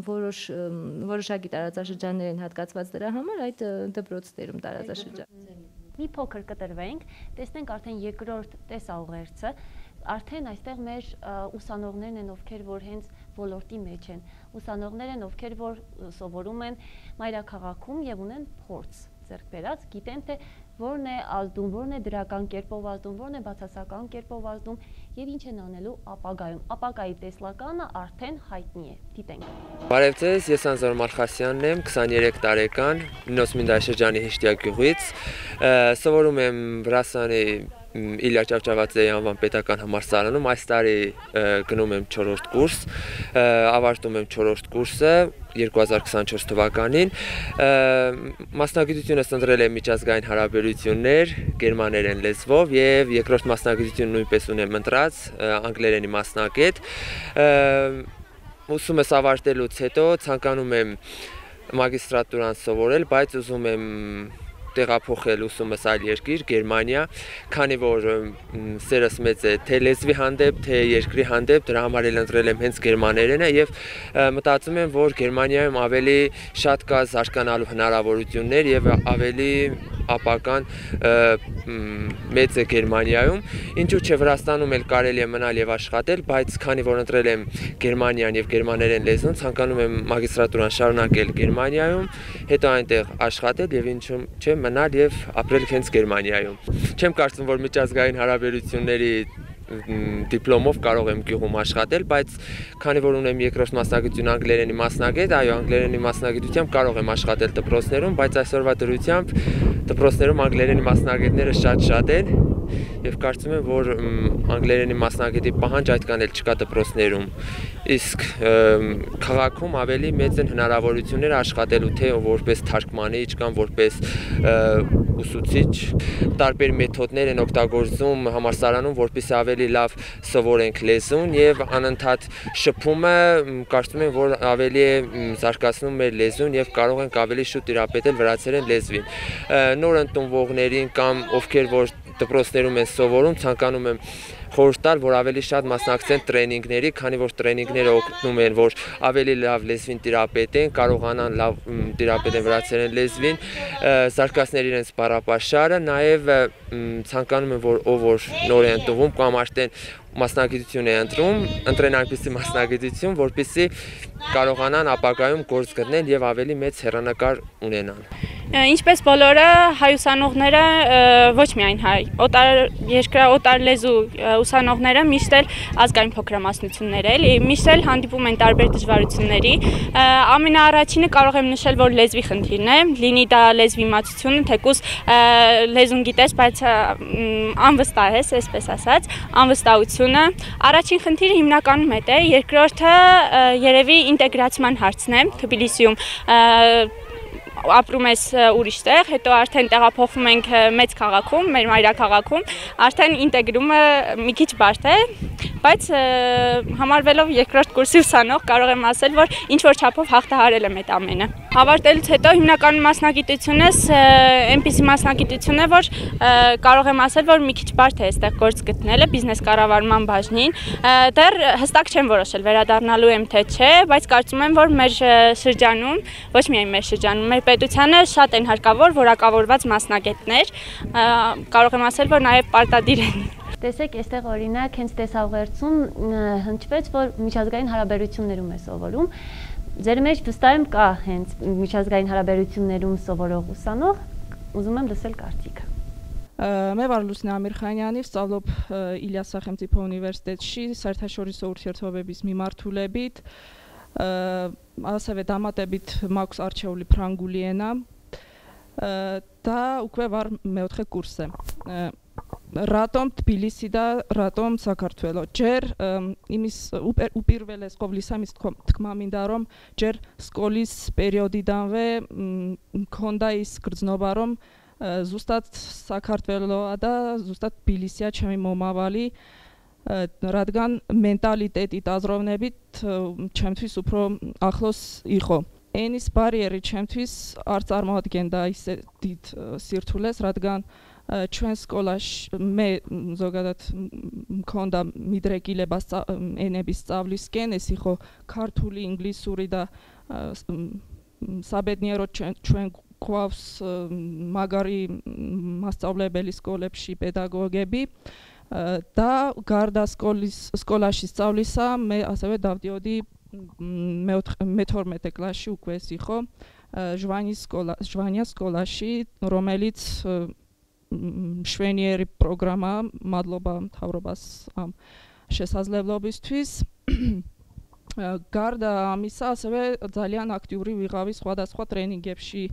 որոշակի տարածաշրջաններ են հատկացված դրա համար այդ դպրոցներում տարածաշրջան։ Մի փոքր կտրվենք, տեսնենք արդեն երկրորդ տեսաուղերձը, արդեն այստեղ մեր ուսանողներն են, ովքեր որ հենց ոլորտի մեջ են, ուսանողներ են, ովքեր որ սովորում են մայրաքաղաքում եւ ունեն փորձ ձեռք բերած, գիտեն թե որն է ազդում, որն է դրական կերպով ազդում, որն է բացասական կերպով ազդում եւ ինչ են անելու ապագայում։ Ապագայի տեսլականը արդեն հայտնի է։ Դիտենք։ Բարև ձեզ, ես Անզոր Մալխասյանն եմ, 23 տարեկան, Նոսմինդայ շրջանի Հիշտյա գյուղից, սովորում եմ Վրաստանի Իլյա Ճավճավաձեի անվան պետական համալսարանում, այս տարի գնում եմ 4-րդ կուրս, ավարտում եմ 4-րդ կուրսը 2024 թվականին, մասնագիտությունս ընտրել եմ միջազգային հարաբերություններ, գերմաներեն լեզվով եւ երկրորդ մասնագիտությունը նույնպես ունեմ ընտրած, անգլերենի մասնագետ, ուսումս ավարտելուց հետո ցանկանում եմ մագիստրատուրան սովորել, բայց ուզում եմ տեղափոխել ուսումս այլ երկիր, Գերմանիա, քանի որ սերս մեծ է թե լեզվի հանդեպ, թե երկրի հանդեպ, դրա համար էլ ընտրել եմ հենց գերմաներենը եւ մտածում եմ, որ Գերմանիայում ավելի շատ կա զարգանալու հնարավորություններ եւ ավելի ապական մեծ է Գերմանիայում, ինչու՞ չէ Վրաստանում էլ կարելի է մնալ եւ աշխատել, բայց քանի որ ընտրել եմ Գերմանիան եւ գերմաներեն լեզուն, ցանկանում եմ մագիստրատուրան շարունակել Գերմանիայում, հետո այնտեղ աշխատել եւ ինչու՞ չէ մնալ եւ ապրել հենց Գերմանիայում։ Չեմ կարծում, որ միջազգային հարաբերությունների դիպլոմով կարող եմ գյուղում աշխատել, բայց քանի որ ունեմ երկրորդ մասնագիտություն անգլերենի մասնագետ, այո, անգլերենի մասնագիտությամբ կարող եմ աշխատել դպրոցներում, բայց այսօրվա դրությամբ դպրոցներում անգլերենի մասնագետները շատ են եւ կարծում եմ, որ անգլերենի մասնագետի պահանջ այդքան էլ չկա դպրոցներում։ Իսկ քաղաքում ավելի մեծ են հնարավորությունները աշխատելու թե որպես թարգմանիչ կամ որպես ուսուցիչ, տարբեր մեթոդներ են օգտագործում համալսարանում, որպեսզի ավելի լավ սովորենք լեզուն եւ անընդհատ շփումը կարծում եմ, որ ավելի է զարգացնում մեր լեզուն եւ կարող ենք ավելի շուտ տիրապետել վրացերեն լեզվին։ Նոր ընդունվողներին կամ ովքեր որ դպրոցներում են սովորում, ցանկանում եմ խորհուրդ տալ, որ ավելի շատ մասնակցեն տրեյնինգների, քանի որ տրեյնինգները օգնում են, որ ավելի լավ լեզվին տիրապետեն, կարողանան լավ տիրապետեն վրացերեն լեզվին, զարգացնել իրենց բառապաշարը, նաև ցանկանում եմ, որ ով որ նոր է ընդունվում կամ արդեն մասնագիտություն է ընտրեն այնպիսի մասնագիտություն, որպեսզի կարողանան ապագայում գործ գտնել եւ ավելի մեծ հեռանկար ունենան։ Ինչպես բոլորը հայ ուսանողները, ոչ միայն հայ, օտար լեզու ուսանողները միշտ էլ ազգային փոքրամասնություններ էլի, միշտ էլ հանդիպում են տարբեր դժվարությունների։ Ամենաառաջինը կարող եմ նշել, որ լեզվի խնդիրն է, լինի դա լեզվի իմացությունը, թեկուզ լեզուն գիտես, բայց անվստահ ես, այսպես ասած, անվստահությունը։ Առաջին խնդիրը հիմնականում այդ է, երկրորդը երևի ինտեգրացիան հարցն է, Թբիլիսիում ապրում ես ուրիշ տեղ, հետո արդեն տեղափոխվում ենք մեծ քաղաքում, մեր մայրաքաղաքում, արդեն ինտեգրումը մի քիչ բարդ է, բայց համարվելով երկրորդ կուրսի ուսանող կարող եմ ասել, որ ինչ որ չափով հաղթահարել եմ այդ ամենը։ Ավարտելուց հետո հիմնական մասնագիտությունս այնպիսի մասնագիտություն է, որ կարող եմ ասել, որ մի քիչ բարդ է այստեղ գործ գտնելը բիզնես կառավարման բաժնին։ Դեռ հստակ չեմ որոշել վերադառնալու եմ թե չէ, բայց կարծում եմ, որ մեր շրջանում, ոչ միայն մեր շրջանում, մեր պետությանը շատ են հարկավոր որակավորված մասնագետներ, կարող եմ ասել, որ նաև պարտադիր են։ Տեսեք, այստեղ օրինակ հենց տեսավղերձում հնչվեց, որ միջազգային հարաբերություններում է սովորում։ Ձեր մեջ վստահ եմ կա հենց միջազգային հարաբերություններում սովորող ուսանող, ուզում եմ լսել կարծիքը։ Მე ვარ ლუსნა ამირხანიანი, ვსწავლობ ილიას სახელმწიფო უნივერსიტეტში საერთაშორისო ურთიერთობების მიმართულებით. ასევე დამატებით მაქვს არჩეული ფრანგული ენა და უკვე ვარ მეოთხე კურსზე. Რატომ თბილისი და რატომ საქართველო? ჯერ იმის უპირველეს ყოვლისა მის თქმა მინდა რომ ჯერ სკოლის პერიოდიდანვე მქონდა ის გრძნობა რომ ზუსტად საქართველოა და ზუსტად თბილისია ჩემი მომავალი, რადგან მენტალიტეტით, აზროვნებით ჩემთვის უფრო ახლოს იყო. ენის ბარიერი ჩემთვის არ წარმოადგენდა ისე დიდ სირთულეს, რადგან ჩვენ სკოლაში მე ზოგადად მქონდა მიდრეკილება ენების სწავლისკენ, ეს იყო ქართული, ინგლისური და საბედნიეროდ ჩვენ გვყავს მაგარი მასწავლებელი სკოლებში, პედაგოგები. Դա Garda Skolashi სწავლისა მე ასევე დავდიოდი მე-12 კლასში უკვე ეს იყო ჟვანიას სკოლაში, რომელიც მშვენიერი პროგრამა, მადლობა მთავრობას ამ შესაძლებლობისთვის. გარდა ამისა, ასევე ძალიან აქტიური ვიყავი სხვადასხვა ტრენინგებში,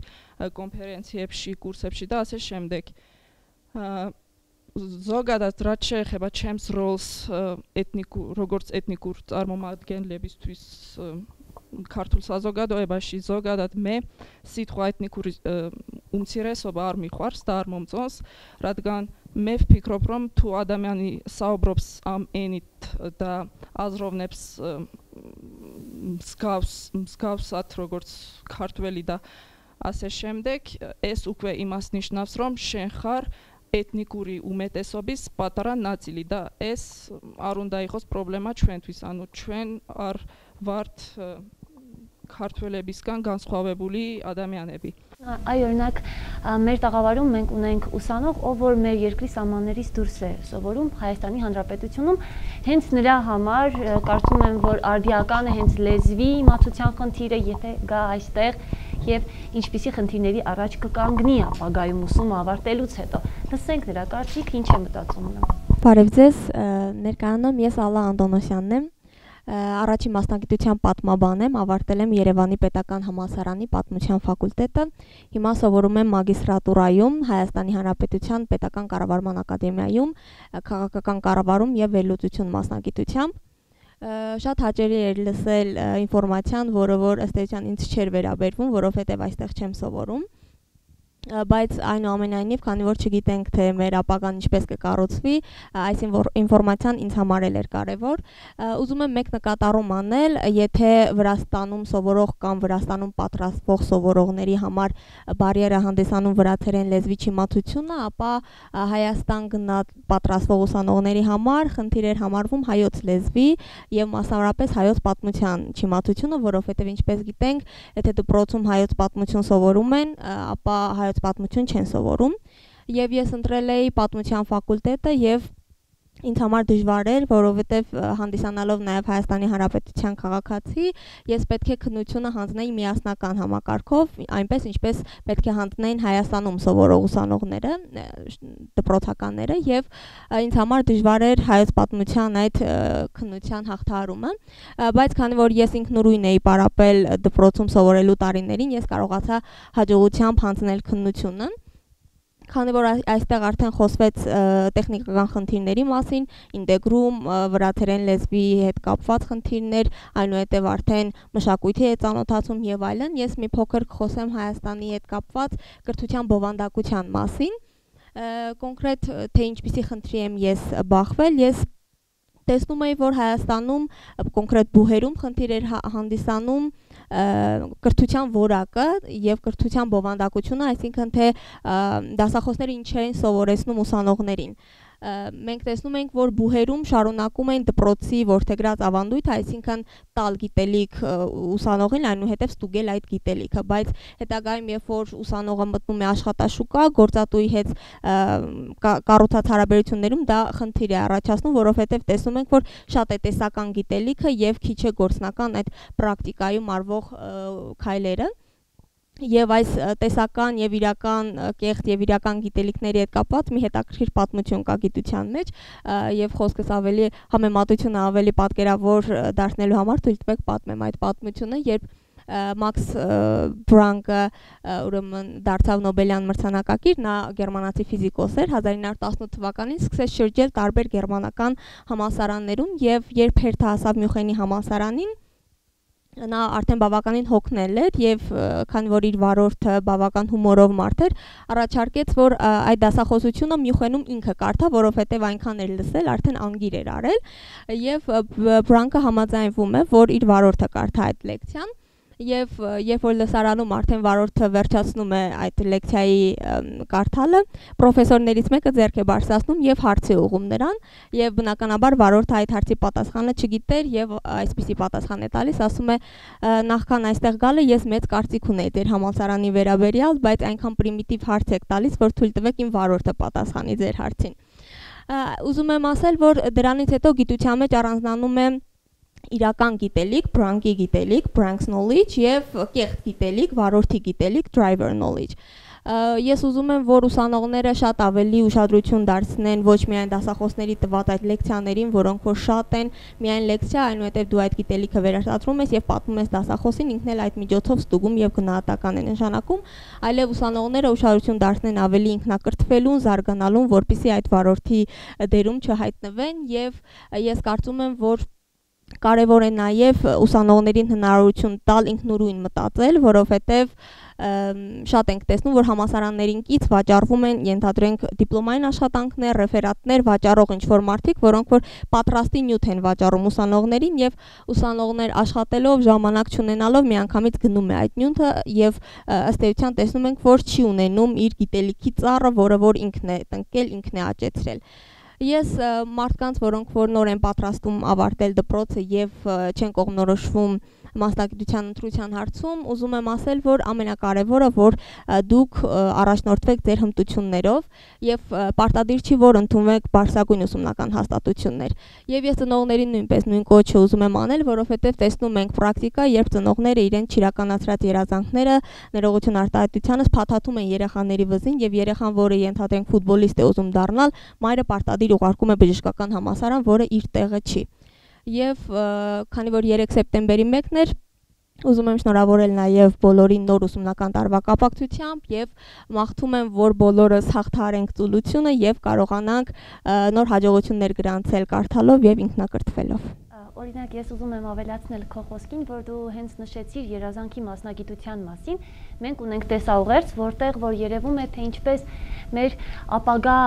კონფერენციებში, კურსებში და ასე შემდეგ. ზოგადად რაც შეეხება ჩემს როლს როგორც ეთნიკურ წარმომადგენლებისთვის ქართულ საზოგადოებაში, ზოგადად მე სიტყვა ეთნიკური უმცირესობა არ მიყვარს და არ მომწონს, რადგან მე ვფიქრობ, რომ თუ ადამიანი საუბრობს ამ ენით და აზროვნებს მსგავსად როგორც ქართველი და ასე შემდეგ, ეს უკვე იმას ნიშნავს, რომ შენ ხარ ეთნიკური უმეტესობის პატარა ნაწილი და ეს არ უნდა იყოს პრობლემა ჩვენთვის, ანუ ჩვენ არ ვართ ქართველებისგან განსხვავებული ადამიანები. Այ օրինակ մեր տաղավարում մենք ունենք ուսանող, ով որ մեր երկրի սահմաններից դուրս է սովորում Հայաստանի Հանրապետությունում, հենց նրա համար կարծում եմ, որ արդիական է հենց լեզվի իմացության խնդիրը, եթե գա այստեղ եւ ինչպիսի խնդիրների առաջ կկանգնի ապագայում ուսումը ավարտելուց հետո։ Լսենք նրա կարծիքը, ինչ է մտածում նա։ Բարև ձեզ, ներկայանում ես Ալլա Անդոնոսյանն եմ։ Առաջին մասնագիտության պատմաբան եմ, ավարտել եմ Երևանի Պետական համալսարանի պատմության ֆակուլտետը։ Հիմա սովորում եմ մագիստրատուրայում Հայաստանի Հանրապետության Պետական կառավարման ակադեմիայում քաղաքական կառավարում եւ վերլուծություն մասնագիտությամբ։ Շատ հաճելի էր լսել ինֆորմացիան, որը որ ըստ էության ինձ չէր վերաբերվում, որովհետեւ այստեղ չեմ սովորում։ Բայց այնուամենայնիվ, քանի որ չգիտենք թե մեր ապագան ինչպես կկառուցվի, այս ինֆորմացիան ինձ համար էր կարևոր։ Ուզում եմ մեկ նկատառում անել, եթե Վրաստանում սովորող կամ Վրաստանում պատրաստվող սովորողների համար բարիերը հանդիսանում վրացերեն լեզվի չիմացությունը, ապա Հայաստան գնալ պատրաստվող ուսանողների համար խնդիր էր համարվում հայոց լեզվի եւ մասնավորապես հայոց պատմության չիմացությունը, որովհետեւ ինչպես գիտենք, եթե դպրոցում հայոց պատմություն սովորում են, ապա հայոց պատմություն չեն սովորում եւ ես ընտրել էի պատմության ֆակուլտետը եւ ինձ համար դժվար էր, որովհետեւ հանդիսանալով նաեւ Հայաստանի Հանրապետության քաղաքացի, ես պետք է քննությունը հանձնեի միասնական համակարգով, այնպես ինչպես պետք է հանձնեին Հայաստանում սովորող ուսանողները, դպրոցականները եւ ինձ համար դժվար էր հայոց պատմության այդ քննության հաղթահարումը, բայց քանի որ ես ինքնուրույն էի պարապել դպրոցում սովորելու տարիներին, ես կարողացա հաջողությամբ հանձնել քննությունը։ Քանի որ այստեղ արդեն խոսվեց տեխնիկական խնդիրների մասին, ինտեգրում, վրացերեն լեզվի հետ կապված խնդիրներ, այնուհետև արդեն մշակույթի հետ ծանոթացում եւ այլն, ես մի փոքր կխոսեմ Հայաստանի հետ կապված կրթության բովանդակության մասին։ Կոնկրետ թե ինչպիսի խնդրի եմ ես բախվել, ես տեսնում էի, որ Հայաստանում կոնկրետ բուհերում խնդիր էր հանդիսանում կրթության որակը եւ կրթության բովանդակությունը, այսինքն թե դասախոսները ինչ են սովորեցնում ուսանողներին։ Մենք տեսնում ենք, որ բուհերում շարունակում են դպրոցի որդեգրած ավանդույթ, այսինքն տալ գիտելիք ուսանողին, այնուհետև ստուգել այդ գիտելիքը, բայց հետագայում երբ որ ուսանողը մտնում է աշխատաշուկա, գործատուի հետ կառուցած հարաբերություններում դա խնդիր է առաջացնում, որովհետև տեսնում ենք, որ շատ է տեսական գիտելիքը եւ քիչ է գործնական այդ պրակտիկայում արվող քայլերը։ Եվ այս տեսական եւ իրական կեղծ եւ իրական գիտելիքների հետ կապված մի հետաքրքիր պատմություն կա գիտության մեջ եւ խոսքս ավելի համեմատությունը ավելի պատկերավոր դարձնելու համար թույլ տվեք պատմեմ այդ պատմությունը, երբ Մաքս Բրանկը ուրեմն դարձավ Նոբելյան մրցանակակիր, նա գերմանացի ֆիզիկոս էր, 1918 թվականին սկսեց շրջել տարբեր գերմանական համալսարաններում եւ երբ հերթը հասավ Մյունխենի համալսարանին, նա արդեն բավականին հոգնել էր եւ քանի որ իր վարորդը բավական հումորով մարդ էր, առաջարկեց, որ այդ դասախոսությունը Մյունխենում ինքը կարդա, որովհետեւ այնքան էր լսել, արդեն անգիր էր արել եւ Բրանկը համաձայնվում է, որ իր վարորդը կարդա այդ լեկցիան։ Եվ երբ որ լսարանում արդեն վարորդը վերջացնում է այդ լեկցիայի կարդալը, պրոֆեսորներից մեկը ձեռք է բարձրացնում եւ հարց է ուղղում նրան, եւ բնականաբար վարորդը այդ հարցի պատասխանը չգիտեր եւ այսպիսի պատասխան է տալիս, ասում է նախքան այստեղ գալը ես մեծ կարծիք ունեի ձեր համալսարանի վերաբերյալ, բայց այնքան պրիմիտիվ հարց եք տալիս, որ թույլ տվեք իմ վարորդը պատասխանի ձեր հարցին։ Ուզում եմ ասել, որ դրանից հետո գիտության մեջ առանձնանում է իրական գիտելիք, բրանկի գիտելիք, branch knowledge եւ կեղծ գիտելիք, վարորդի գիտելիք, driver knowledge։ Ես ուզում եմ, որ ուսանողները շատ ավելի ուշադրություն դարձնեն ոչ միայն դասախոսների տված այդ լեկցիաներին, որոնք որ շատ են, միայն լեկցիա, այնուհետև դու այդ գիտելիքը վերարտադրում ես եւ պատմում ես դասախոսին, ինքն էլ այդ միջոցով ստուգում եւ գնահատական է նշանակում, այլև ուսանողները ուշադրություն դարձնեն ավելի ինքնակրթվելուն, զարգանալուն, որպեսզի այդ վարորդի դերում չհայտնվեն եւ ես կարծում եմ, որ կարևոր է նաև ուսանողներին հնարավորություն տալ ինքնուրույն մտածել, որովհետև շատ ենք տեսնում, որ համալսարաններին կից վաճառվում են, ենթադրենք դիպլոմային աշխատանքներ, ռեֆերատներ վաճառող ինչ-որ մարդիկ, որոնք որ պատրաստի նյութ են վաճառում ուսանողներին եւ ուսանողներ աշխատելով, ժամանակ չունենալով միանգամից գնում է այդ նյութը եւ ըստ էության տեսնում ենք, որ չի ունենում իր գիտելիքի ծառը, որը որ ինքն է տնկել, ինքն է աճեցրել։ Ես մարդկանց, որոնք որ նոր են պատրաստում ավարտել դպրոցը եւ չեն կողմնորոշվում մասնագիտության ընտրության հարցում, ուզում եմ ասել, որ ամենակարևորը, որ դուք առաջնորդվեք ձեր հմտություններով եւ պարտադիր չի, որ ընդունվեք բարձրագույն ուսումնական հաստատություններ։ Եվ ես ծնողներին նույնպես նույն կոչը ուզում եմ անել, որովհետեւ տեսնում ենք պրակտիկա, երբ ծնողները իրենց չիրականացրած երազանքները ներողություն արտահայտությանս փաթաթում են երեխաների վզին եւ երեխան, որը ենթադրենք ֆուտբոլիստ է ուզում դառնալ, մայրը պարտադիր ուղարկում է բժշկական համալսարան, որը իր տեղը չի։ Եվ քանի որ 3 սեպտեմբերի 1-ն էր, ուզում եմ շնորհավորել նաև բոլորին նոր ուսումնական տարվա կապակցությամբ եւ մաղթում եմ, որ բոլորս հաղթահարենք ծուլությունը եւ կարողանանք նոր հաջողություններ գրանցել կարդալով եւ ինքնակրթվելով։ Օրինակ, ես ուզում եմ ավելացնել քո խոսքին, որ դու հենց նշեցիր երազանքի մասնագիտության մասին։ Մենք ունենք տեսաուղերձ, որտեղ որ երևում է, թե ինչպես մեր ապագա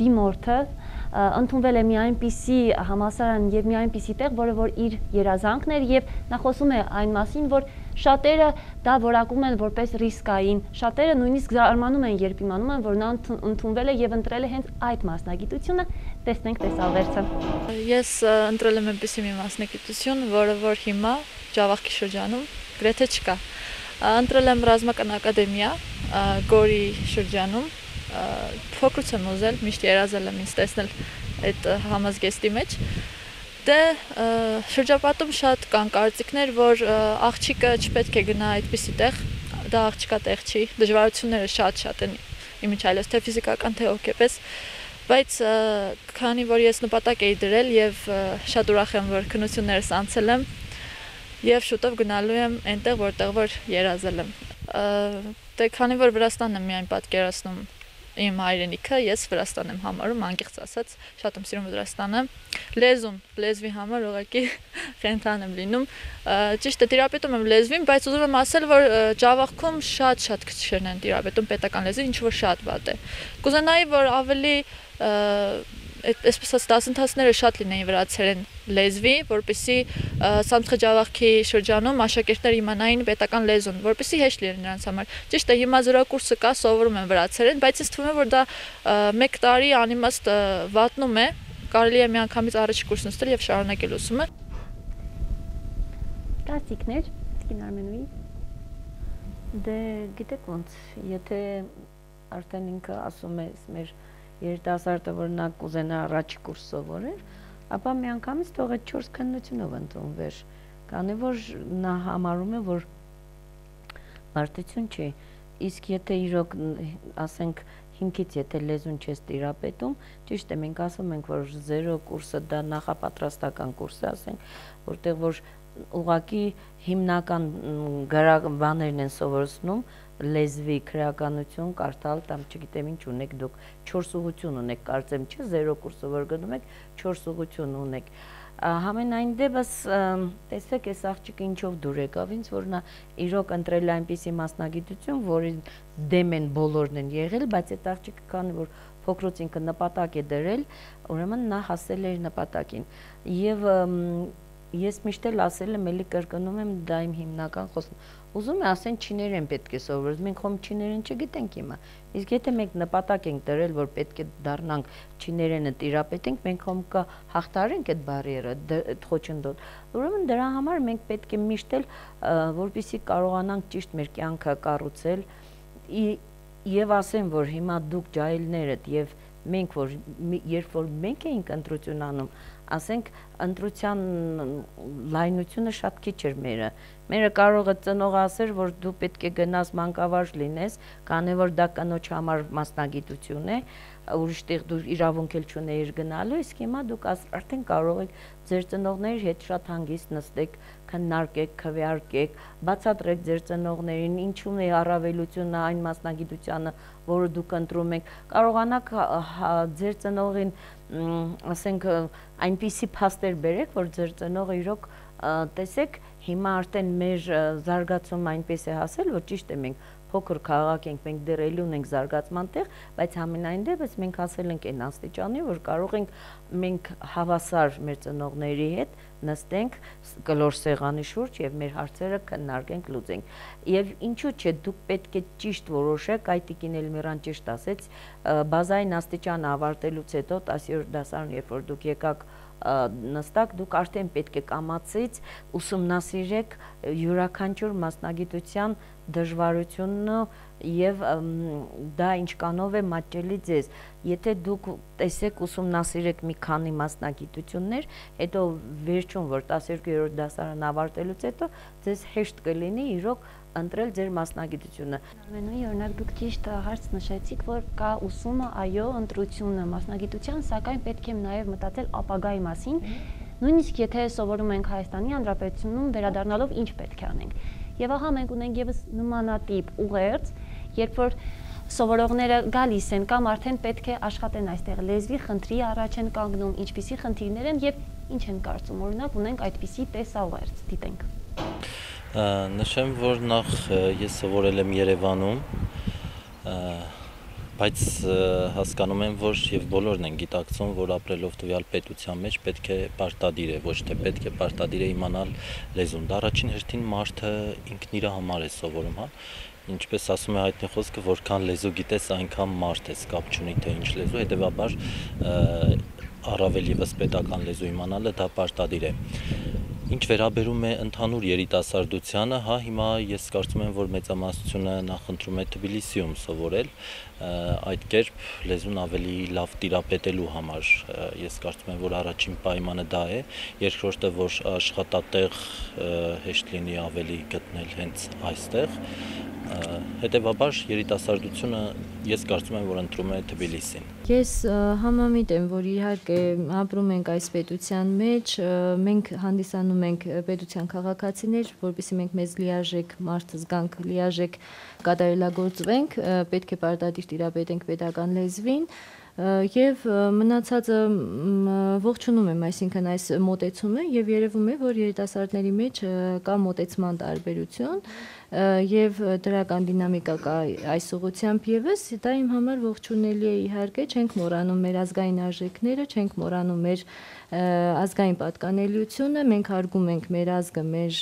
դիմորդը ընդունվել է մի այնպիսի համալսարան եւ մի այնպիսի տեղ, որը որ իր երազանքն էր եւ նա խոսում է այն մասին, որ շատերը դա որակում են որպես ռիսկային, շատերը նույնիսկ զարմանում են, երբ իմանում են, որ նա ընդունվել է եւ ընտրել է հենց այդ մասնագիտությունը։ Տեսնենք տեսաուղերձը։ Ես ընտրել եմ այնպիսի մի մասնագիտություն, որը որ հիմա Ջավախքի շրջանում գրեթե չկա։ Ընտրել եմ ռազմական ակադեմիա Գորի շրջանում։ Փոքրուց եմ ուզել, միշտ երազել եմ ինձ տեսնել այդ համազգեստի մեջ։ Դե շրջապատում շատ կան կարծիքներ, որ աղջիկը չպետք է գնա այդպիսի տեղ, դա աղջիկա տեղ չի, դժվարությունները շատ են իմիջայլոց, թե ֆիզիկական, թե հոգեպես, բայց քանի որ ես նպատակ էի դրել եւ շատ ուրախ եմ, որ քննություններս անցել եմ եւ շուտով գնալու եմ այնտեղ, որտեղ որ երազել եմ։ Դե քանի որ Վրաստանն եմ միայն պատկերացնում իմ հայրենիքը, ես Վրաստան եմ համարում, անկեղծ ասած, շատ եմ սիրում Վրաստանը։ Լեզվի համար ուղղակի խենթան եմ լինում։ Ճիշտ է, տիրապետում եմ լեզվին, բայց ուզում եմ ասել, որ Ջավախքում շատ քիչերն են տիրապետում պետական լեզվին, ինչ որ շատ վատ է։ Կուզենայի, որ ավելի այսպես ասած դասընթացները շատ լինեին վրացերեն լեզվի, որպեսզի Սամցխե Ջավախքի շրջանում աշակերտները իմանային պետական լեզուն, որպեսզի հեշտ լինի նրանց համար։ Ճիշտ է, հիմա զրակուրսը կա, սովորում են վրացերեն, բայց ինձ թվում է, որ դա 1 տարի անիմաստ վատնում է, կարելի է միանգամից առաջի կուրսն ստել եւ շարունակել ուսումը։ Կարծիքներ, Տիկին Արմենուի։ Դե գիտեք ոնց, եթե արդեն ինքը ասում է մեր երիտասարդը, որ նա կուզենա առաջի կուրս սովորեր, ապա միանգամից թող այդ 4 քննությունով ընդունվեր, քանի որ նա համարում է, որ բարդություն չի, իսկ եթե իրոք ասենք հիմքից եթե լեզուն չես տիրապետում, ճիշտ է, մենք ասում ենք, որ 0 կուրսը դա նախապատրաստական կուրս է, ասենք, որտեղ որ ուղղակի հիմնական բաներն են սովորեցնում լեզվի քրեականություն կարդալ, կամ չգիտեմ ինչ ունեք դուք 4 ուղղություն ունեք, կարծեմ չէ 0 կուրսը որ գնում եք 4 ուղղություն ունեք։ Համենայն դեպս տեսեք այս աղջիկը ինչով դուր եկավ ինձ, որ նա իրոք ընտրել այնպիսի մասնագիտություն, որին դեմ են բոլորն են եղել, բայց այդ աղջիկը քանի որ փոքրուց ինքը նպատակ է դրել, ուրեմն նա հասել էր նպատակին։ Եվ ես միշտ էլ ասել եմ, էլի կրկնում եմ, դա իմ հիմնական խոսքն։ Ուզում եմ ասեն չիներեն պետք է սովորել, մենք խոմ չիներեն չգիտենք հիմա։ Իսկ եթե մենք նպատակ ենք դրել, որ պետք է դառնանք չիներենը տիրապետենք, մենք խոմ կհաղթարենք այդ բարիերը, այդ խոչընդոտ։ Ուրեմն դրա համար մենք պետք է միշտ էլ, որպեսզի կարողանանք ճիշտ մեր կյանքը կառուցել, եւ ասեմ, որ հիմա դուք ջահելներդ եւ մենք որ երբ որ մենք էինք ընտրություն անում, ասենք ընտրության լայնությունը շատ քիչ էր մերը կարող է ծնողը ասեր, որ դու պետք է գնաս մանկավարժ լինես, քանի որ դա կնոջ համար մասնագիտություն է, ուրիշ տեղ դու իրավունք էլ չունեիր գնալու, իսկ հիմա դուք արդեն կարող եք ձեր ծնողների հետ շատ հանգիստ նստեք, քննարկեք, քվեարկեք, բացատրեք ձեր ծնողներին, ինչու՞ն է առավելությունը այն մասնագիտությանը, որը դուք ընտրում եք, կարողանաք ձեր ծնողին, ասենք, այնպիսի փաստեր բերեք, որ ձեր ծնողը իրոք տեսեք, հիմա արդեն մեր զարգացումը այնպես է հասել, որ ճիշտ է մենք փոքր քաղաք ենք, մենք դեռ էլի ունենք զարգացման տեղ, բայց համենայն դեպս մենք հասել ենք այն աստիճանի, որ կարող ենք մենք հավասար մեր ծնողների հետ նստենք կլոր սեղանի շուրջ եւ մեր հարցերը քննարկենք, լուծենք։ Եվ ինչու՞ չէ, դուք պետք է ճիշտ որոշեք, այդ տիկին Էլմիրան ճիշտ ասեց, բազային աստիճանը ավարտելուց հետո 10-րդ դասարան, երբ որ դուք եկաք նստակ, դուք արդեն պետք է կամացից ուսումնասիրեք յուրաքանչյուր մասնագիտության դժվարությունը եւ դա ինչքանով է մատչելի ձեզ։ Եթե դուք տեսեք ուսումնասիրեք մի քանի մասնագիտություններ, հետո վերջում, որ 12-րդ դասարան ավարտելուց հետո ձեզ հեշտ կլինի իրոք ընտրել ձեր մասնագիտությունը։ Ամենուի օրինակ դուք ճիշտ հարց նշեցիք, որ կա ուսումը, այո, ընտրությունը մասնագիտության, սակայն պետք է նաև մտածել ապագայի մասին, նույնիսկ եթե սովորում ենք Հայաստանի Հանրապետությունում, վերադառնալով ինչ պետք է անենք։ Եվ ահա մենք ունենք եւս նմանատիպ ուղերձ, երբ որ սովորողները գալիս են կամ արդեն պետք է աշխատեն այստեղ, լեզվի խնդրի առաջ են կանգնում, ինչպիսի խնդիրներ են եւ ինչ են կարծում, օրինակ ունենք այդպիսի տեսաուղերձ, դիտենք։ Նշեմ, որ նախ ես սովորել եմ Երևանում, բայց հասկանում եմ, որ եւ բոլորն են գիտակցում, որ ապրելով տվյալ պետության մեջ պետք է պարտադիր է, ոչ թե պետք է պարտադիր է իմանալ լեզուն։ Դա առաջին հերթին մարդը ինքն իր համար է սովորում, հա։ Ինչպես ասում է հայտնի խոսքը, որքան լեզու գիտես, այնքան մարդ ես, կապ չունի թե ինչ լեզու, հետեւաբար առավել եւս պետական լեզու իմանալը դա պարտադիր է։ Ինչ վերաբերում է ընդհանուր երիտասարդությանը, հա, հիմա ես կարծում եմ, որ մեծամասնությունը նախընտրում է Թբիլիսիում սովորել, այդ կերպ լեզուն ավելի լավ տիրապետելու համար, ես կարծում եմ, որ առաջին պայմանը դա է, երկրորդը, որ աշխատատեղ հեշտ լինի ավելի գտնել հենց այստեղ, հետևաբար երիտասարդությունը ես կարծում եմ, որ ընտրում է Թբիլիսին։ Ես համամիտ եմ, որ իհարկե ապրում ենք այս պետության մեջ, մենք հանդիսանում ենք պետության քաղաքացիներ, որպեսզի մենք մեզ լիարժեք մարդ զգանք, լիարժեք կատարելագործվենք, պետք է պարտադիր տիրապետենք պետական լեզվին, եւ մնացածը ողջունում եմ, այսինքն այս մոտեցումը եւ երևում է, որ երիտասարդների մեջ կա մոտեցման տարբերություն եւ դրական դինամիկա կա այս ուղղությամբ եւս, դա իմ համար ողջունելի է իհարկե, չենք մոռանում մեր ազգային արժեքները, չենք մոռանում մեր ազգային պատկանելիությունը, մենք հարգում ենք մեր ազգը, մեր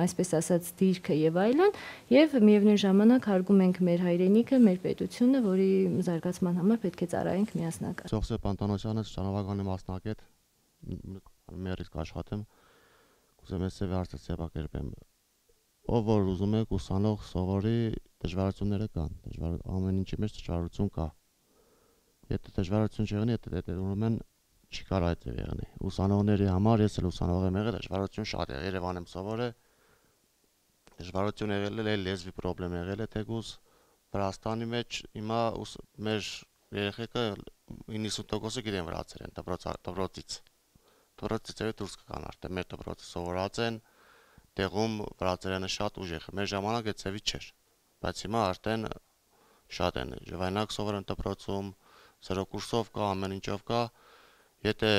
այսպես ասած դիրքը եւ այլն, եւ միևնույն ժամանակ հարգում ենք մեր հայրենիքը, մեր պետությունը, որի զարգացման համար պետք է ծառայենք միասնական։ Ծովսե Պանտանոսյանը ճանապարհականի մասնակետ, մեր իսկ աշխատեմ, կուզեմ ես հարցակերպեմ։ Ով որ ուզում եք ուսանող սովորի, դժվարությունները կան, ամեն ինչի մեջ դժվարություն կա։ Եթե դժվարություն չեղնի, եթե ուրեմն չի կարող այդ եղնի։ Ուսանողների համար ես էլ ուսանող եմ եղել, դժվարություն շատ է, Երևանում սովորել, դժվարություն եղել է, լեզվի խնդրեմ եղել է, թեկուզ Վրաստանի մեջ հիմա մեր երեխեքը 90%-ը գիտեն վրացերեն դպրոցից։ Դպրոցից դուրս կգան արդեն մեր դպրոցը սովորած են, տեղում վրացերենը շատ ուժեղ է։ Մեր ժամանակ այդ ծավի չէր, բայց հիմա արդեն շատ են։ Ժողովրդանակ սովորեն դպրոցում, զրո կուրսով կա, ամեն ինչով կա։ Եթե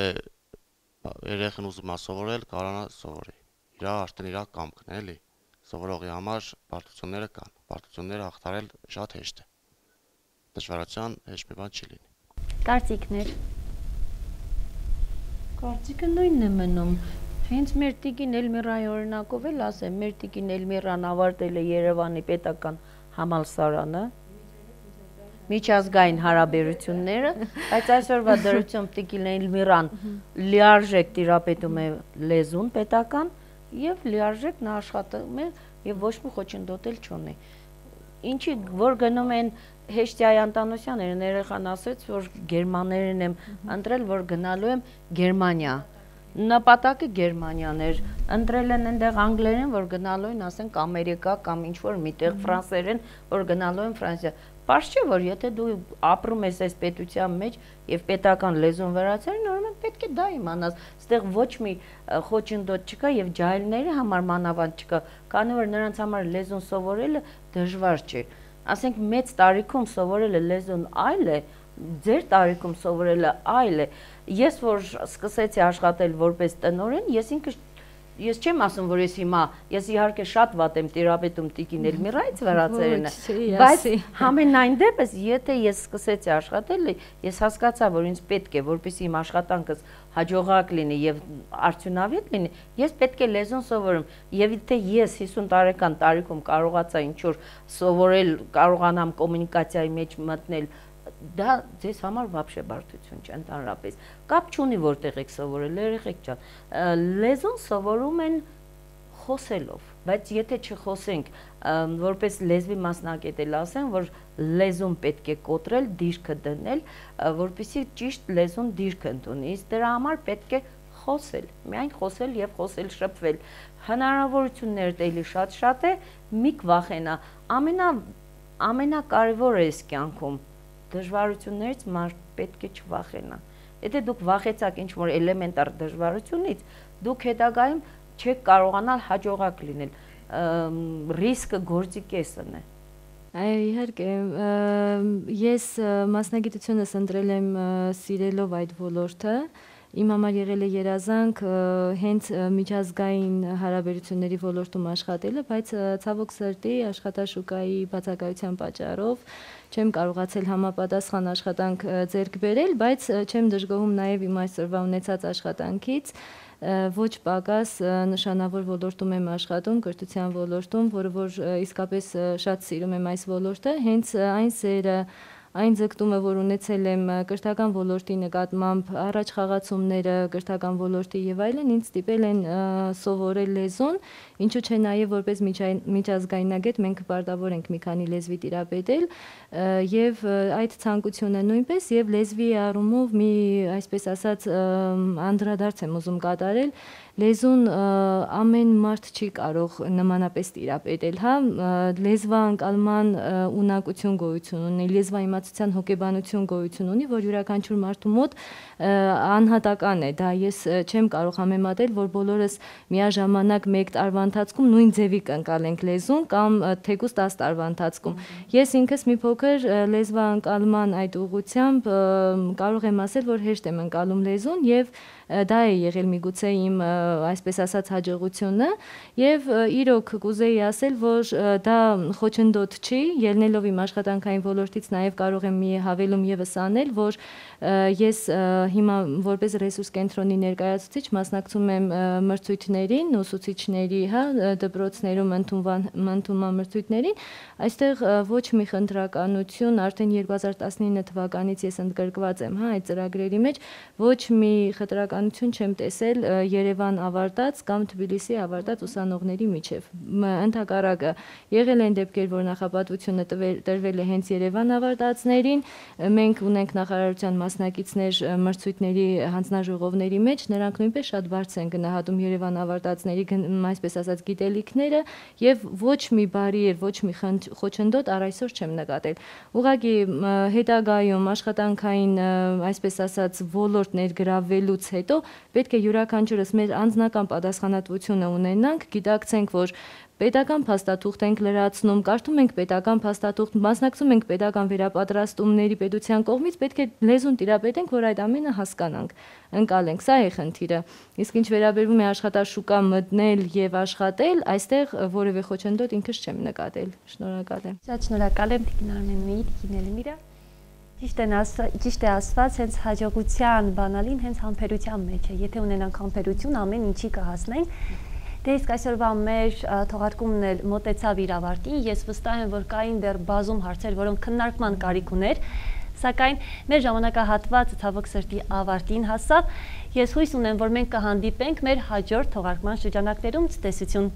երեխան ուզում է սովորել, կարողանա սովորի։ Իրա արդեն իրա կամքն է, էլի։ Սովորողի համար պարտությունները կան։ Պարտությունները հաղթարել շատ հեշտ է։ Դժվարության հեշտ մի բան չի լինի։ Կարծիքներ։ Կարծիքը նույնն է մնում։ Հենց մեր տիկին Էլմիրայի օրինակով էլ ասեմ, մեր տիկին Էլմիրան ավարտել է Երևանի պետական համալսարանը, միջազգային հարաբերությունները, բայց այսօրվա դրությամբ տիկին Էլմիրան լիարժեք տիրապետում է լեզուն պետական եւ լիարժեք նա աշխատում է եւ ոչ մի խոչընդոտել չունի։ ինչի որ գնում են Հեշտյայի Անտանոսյանները ներեխան ասեց, որ գերմաներեն եմ ընտրել, որ գնալու եմ Գերմանիա։ Նպատակը Գերմանիան էր, ընտրել են այնտեղ անգլերեն, որ գնալու են, ասենք, Ամերիկա կամ ինչ-որ միտեղ ֆրանսերեն, որ գնալու են Ֆրանսիա։ Պարզ չէ, որ եթե դու ապրում ես այս պետության մեջ եւ պետական լեզուն վերացել, նորմալ պետք է դա իմանաս։ Այստեղ ոչ մի խոչընդոտ չկա եւ ջահելների համար մանավանդ չկա, քանի որ նրանց համար լեզուն սովորելը դժվար չէ։ Ասենք մեծ տարիքում սովորելը լեզուն այլ է, ձեր տարիքում սովորելը այլ է։ Ես որ սկսեցի աշխատել որպես տնօրեն, ես չեմ ասում, որ ես իհարկե շատ վատ եմ տիրապետում Տիկին Էլմիրայից վերացերենը, բայց համենայն դեպս, եթե ես սկսեցի աշխատել, ես հասկացա, որ ինձ պետք է, որպեսզի իմ աշխատանքս հաջողակ լինի եւ արդյունավետ լինի, ես պետք է լեզուն սովորեմ, եւ եթե ես 50 տարեկան տարիքում կարողացա ինչ-որ սովորել, կարողանամ կոմունիկացիայի մեջ մտնել, դա ձեզ համար вообще բարդություն չէ ընդհանրապես։ Կապ չունի որտեղ եք սովորել, երեխեք ջան։ Լեզուն սովորում են խոսելով, բայց եթե չխոսենք, որպես լեզվի մասնագետ էլ ասեմ, որ լեզուն պետք է կոտրել, դիրքը դնել, որպեսզի ճիշտ լեզուն դիրք ընդունի, իսկ դրա համար պետք է խոսել, միայն խոսել եւ խոսել շփվել։ Հնարավորությունները էլի շատ է, մի վախենա, ամենակարևորը էս կյանքում դժվարություններից մարդ պետք է չվախենա։ Եթե դուք վախեցաք ինչ-որ էլեմենտար դժվարությունից, դուք հետագայում չեք կարողանալ հաջողակ լինել։ Ռիսկը գործի կեսն է։ Այո, իհարկե, ես մասնագիտությունս ընտրել եմ սիրելով այդ ոլորտը, իմ համար եղել է երազանք հենց միջազգային հարաբերությունների ոլորտում աշխատելը, բայց ցավոք սրտի աշխատաշուկայի բացակայության պատճառով չեմ կարողացել համապատասխան աշխատանք ձեռք բերել, բայց չեմ դժգոհում նաև իմ այսօրվա ունեցած աշխատանքից, ոչ պակաս նշանավոր ոլորտում եմ աշխատում, կրթության ոլորտում, որը որ իսկապես շատ սիրում եմ այս ոլորտը, հենց այն սերը այն ձգտումը, որ ունեցել եմ կրթական ոլորտի նկատմամբ, առաջ խաղացումները կրթական ոլորտի եւ այլն, ինձ ստիպել են սովորել լեզուն, ինչու՞ չէ նաեւ որպես միջազգայնագետ մենք պարտավոր ենք մի քանի լեզվի տիրապետել եւ այդ ցանկությունը նույնպես եւ լեզվի առումով մի այսպես ասած անդրադարձ եմ ուզում կատարել լեզուն ամեն մարդ չի կարող նմանապես տիրապետել, հա, լեզվաընկալման ունակություն գոյություն ունի, լեզվաիմացության հոգեբանություն գոյություն ունի, որ յուրաքանչյուր մարդու մոտ անհատական է, դա ես չեմ կարող համեմատել, որ բոլորս միաժամանակ մեկ տարվա ընթացքում նույն ձևի կընկալենք լեզուն կամ թեկուզ 10 տարվա ընթացքում։ Ես ինքս մի փոքր լեզվաընկալման այդ ուղղությամբ կարող եմ ասել, որ հեշտ եմ ընկալում լեզուն եւ դա է եղել միգուցե իմ այսպես ասած հաջողությունը եւ իրոք կուզեի ասել, որ դա խոչընդոտ չի, ելնելով իմ աշխատանքային ոլորտից նաեւ կարող եմ մի հավելում եւս անել, որ ես հիմա որպես ռեսուրս կենտրոնի ներկայացուցիչ մասնակցում եմ մրցույթներին, ուսուցիչների, հա, դպրոցներում ընդունման մրցույթներին, այստեղ ոչ մի խնդրականություն, արդեն 2019 թվականից ես ընդգրկված եմ, հա, այդ ծրագրերի մեջ, ոչ մի խտրականություն չեմ տեսել Երևան ավարտած կամ Թբիլիսի ավարտած ուսանողների միջև։ Ընդհակառակը եղել են դեպքեր, որ նախապատվությունը տրվել է հենց Երևան ավարտածներին, մենք ունենք նախարարության մասնակիցներ մրցույթների հանձնաժողովների մեջ, նրանք նույնպես շատ բարձր են գնահատում Երևան ավարտածների, այսպես ասած, գիտելիքները եւ ոչ մի բարիեր, ոչ մի խոչընդոտ առ այսօր չեմ նկատել։ Ուղղակի հետագայում աշխատանքային, այսպես ասած, ոլորտ ներգրավելուց հետո պետք է յուրաքանչյուրս մեր անձնական պատասխանատվությունը ունենանք, գիտակցենք, որ պետական փաստաթուղթ ենք լրացնում, կարդում ենք պետական փաստաթուղթ, մասնակցում ենք պետական վերապատրաստումների պետության կողմից, պետք է լեզուն տիրապետենք, որ այդ ամենը հասկանանք, ընկալենք, սա է խնդիրը։ Իսկ ինչ վերաբերվում է աշխատաշուկա մտնել եւ աշխատել, այստեղ որևէ խոչընդոտ ինքս չեմ նկատել։ Շնորհակալ եմ։ Շատ շնորհակալ եմ Տիկին Արմենի, Տիկին Էլմիրա։ Ճիշտ է ասված, հենց հաջողության բանալին հենց համբերության մեջ է։ Եթե ունենանք համբերություն, ամեն ինչի կհասնենք։ Դե իսկ այսօրվա մեր թողարկումն էլ մոտեցավ իր ավարտին, ես վստահ եմ, որ կային դեռ բազում հարցեր, որոնք քննարկման կարիք ուներ, սակայն մեր ժամանակահատվածը ցավոք սրտի ավարտին հասավ։ Ես հույս ունեմ, որ մենք կհանդիպենք մեր հաջորդ թողարկման շրջանակներում։ Ցտեսություն։